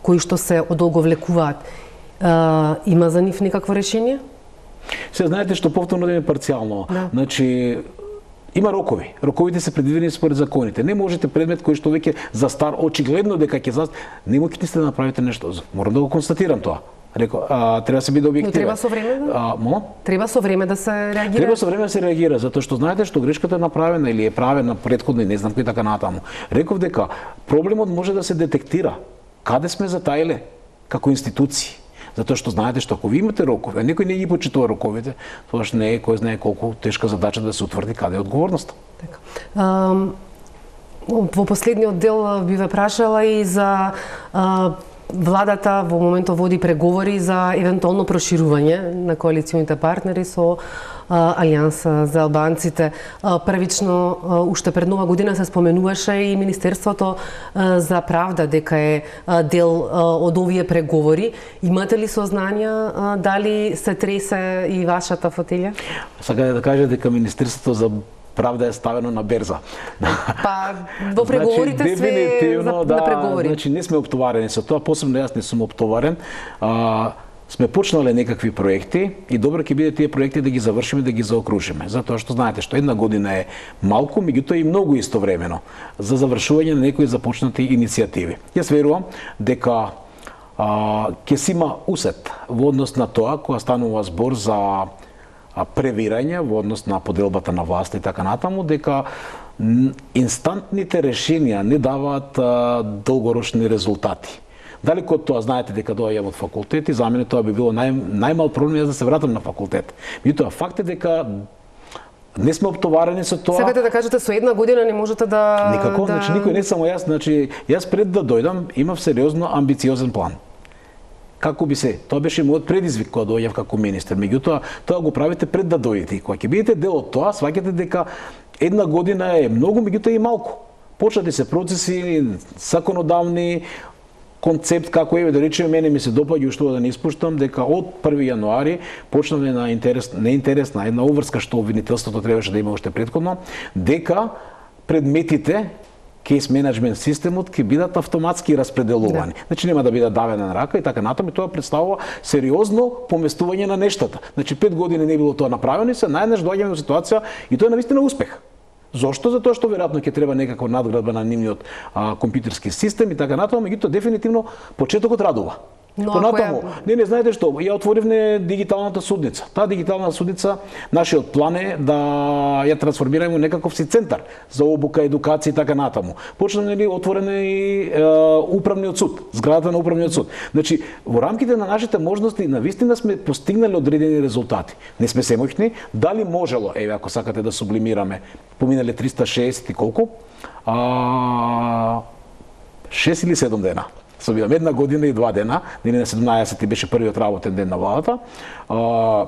Speaker 1: кои што се одолговлекуваат, а, има за нив некакво решение?
Speaker 2: Се знаете што повторно да е парцијално. Да. Значи, има рокови. Роковите се предвидени според законите. Не можете предмет кој што веќе застар, очигледно дека ќе застар, не можете да направите нешто. Морам да го констатирам тоа. Реко, а, треба да се биде објективен.
Speaker 1: Но треба со време да?
Speaker 2: А, мо?
Speaker 1: Треба со време да се реагира.
Speaker 2: Треба со време да се реагира, затоа што знаете што грешката е направена или е правена претходно и не знам кој така натаму. Реков дека проблемот може да се детектира. Каде сме затаиле како институции? Затоа што знаете што ако ви имате рокови, а некој не ги почитува роковите, тоа што не е кој знае колку тешка задача да се утврди каде е одговорноста.
Speaker 1: Така. Um, во последниот дел би ве прашала и за uh, владата во моментот води преговори за евентуално проширување на коалиционите партнери со а, Алијанса за албанците. А, првично, а, уште пред нова година се споменуваше и Министерството а, за правда дека е а, дел а, од овие преговори. Имате ли сознанија а, дали се тресе и вашата фотелја?
Speaker 2: Сакате да кажете дека Министерството за правда е ставено на берза.
Speaker 1: Па, во преговорите
Speaker 2: значи,
Speaker 1: све за,
Speaker 2: да,
Speaker 1: на преговори.
Speaker 2: Значи, не сме оптоварени со тоа, посебно јас не сум оптоварен. А, сме почнале некакви проекти и добро ќе биде тие проекти да ги завршиме, да ги заокружиме. Затоа што знаете што една година е малку, меѓутоа и многу истовремено за завршување на некои започнати иницијативи. Јас верувам дека а, ќе си има усет во однос на тоа кога станува збор за превирање во однос на поделбата на власт и така натаму, дека инстантните решенија не даваат а, долгорочни резултати. Далеко од тоа, знаете дека доаѓам од факултет и за мене тоа би било нај, најмал проблем да се вратам на факултет. Меѓутоа, факт е дека не сме оптоварени со тоа.
Speaker 1: Сакате да кажете со една година не можете да...
Speaker 2: Никако,
Speaker 1: да...
Speaker 2: значи никој не само јас, значи јас пред да дојдам имав сериозно амбициозен план. Како би се, тоа беше мојот предизвик кога доаѓав како министер. Меѓутоа, тоа го правите пред да дојдете и кога ќе бидете дел од тоа, сваќате дека една година е многу, меѓутоа и малку. Почнати се процеси законодавни, концепт како еве да речеме мене ми се допаѓа уште да не испуштам дека од први јануари почнаме на интерес, не интересна една обврска што обвинителството требаше да има уште претходно, дека предметите кейс менеджмент системот ќе бидат автоматски распределувани. Да. Значи нема да биде давена на рака и така натаму, и тоа представува сериозно поместување на нештата. Значи пет години не било тоа направено и се најнаш доаѓаме во ситуација и тоа е навистина успех. Зошто? Затоа што веројатно ќе треба некаква надградба на нивниот а, компјутерски систем и така натаму, меѓутоа дефинитивно почетокот радува.
Speaker 1: Но
Speaker 2: Понатаму,
Speaker 1: ја...
Speaker 2: не, не знаете што, ја отворивме дигиталната судница. Таа дигитална судница, нашиот план е да ја трансформираме во некаков си центар за обука, едукација и така натаму. Почнаме нели отворен и е, управниот суд, зградата на управниот суд. Значи, во рамките на нашите можности, навистина сме постигнали одредени резултати. Не сме семоќни, дали можело, еве ако сакате да сублимираме, поминале триста и шеесет и колку? А, шест или седум дена. Собивам една година и два дена, дени на седумнаесети беше првиот работен ден на владата. А,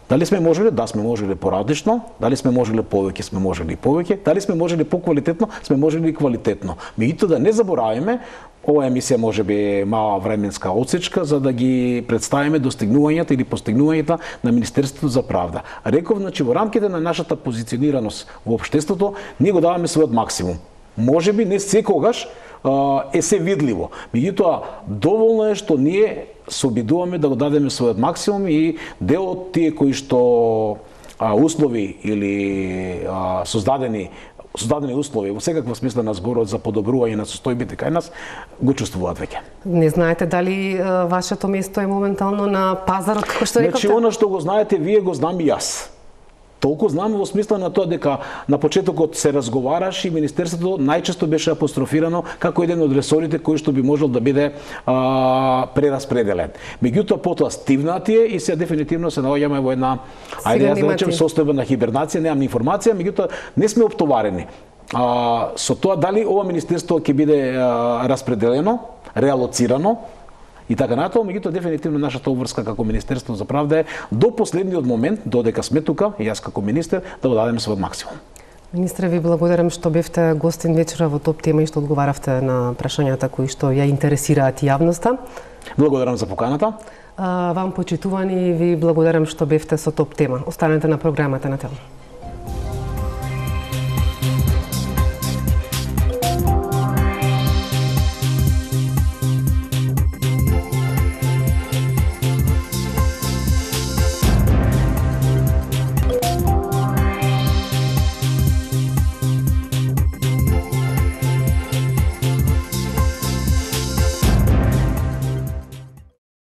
Speaker 2: дали сме можеле? Да, сме можеле поразлично. Дали сме можеле повеќе? Сме можеле и повеќе. Дали сме можеле поквалитетно? Сме можеле и квалитетно. Меѓутоа да не забораваме, ова емисија може би е мала временска отсечка за да ги представиме достигнувањата или постигнувањата на Министерството за правда. Реков, значи во рамките на нашата позиционираност во општеството, ние го даваме својот максимум. Може би не секогаш е се видливо. Меѓутоа, доволно е што ние се обидуваме да го дадеме својот максимум и дел од тие кои што а, услови или а, создадени создадени услови во секаква смисла на зборот за подобрување на состојбите кај нас го чувствуваат веќе.
Speaker 1: Не знаете дали а, вашето место е моментално на пазарот, како што рековте?
Speaker 2: Значи, она што го знаете вие, го знам и јас. Толку знам во смисла на тоа дека на почетокот се разговараше и Министерството најчесто беше апострофирано како еден од ресорите кој што би можел да биде а, прераспределен. Меѓутоа потоа стивнатие и се дефинитивно се наоѓаме во една, ајде јас да речем, состојба на хибернација, немам информација, меѓутоа не сме оптоварени. А, со тоа дали ова министерство ќе биде а, распределено, реалоцирано, и така натаму, меѓутоа дефинитивно нашата обврска како Министерство за правда е до последниот момент, додека сме тука, и јас како министер, да го дадеме својот максимум.
Speaker 1: Министре, ви благодарам што бевте гостин вечера во Топ тема и што одговаравте на прашањата кои што ја интересираат јавноста.
Speaker 2: Благодарам за поканата.
Speaker 1: А, вам почитувани, ви благодарам што бевте со Топ тема. Останете на програмата на Тело.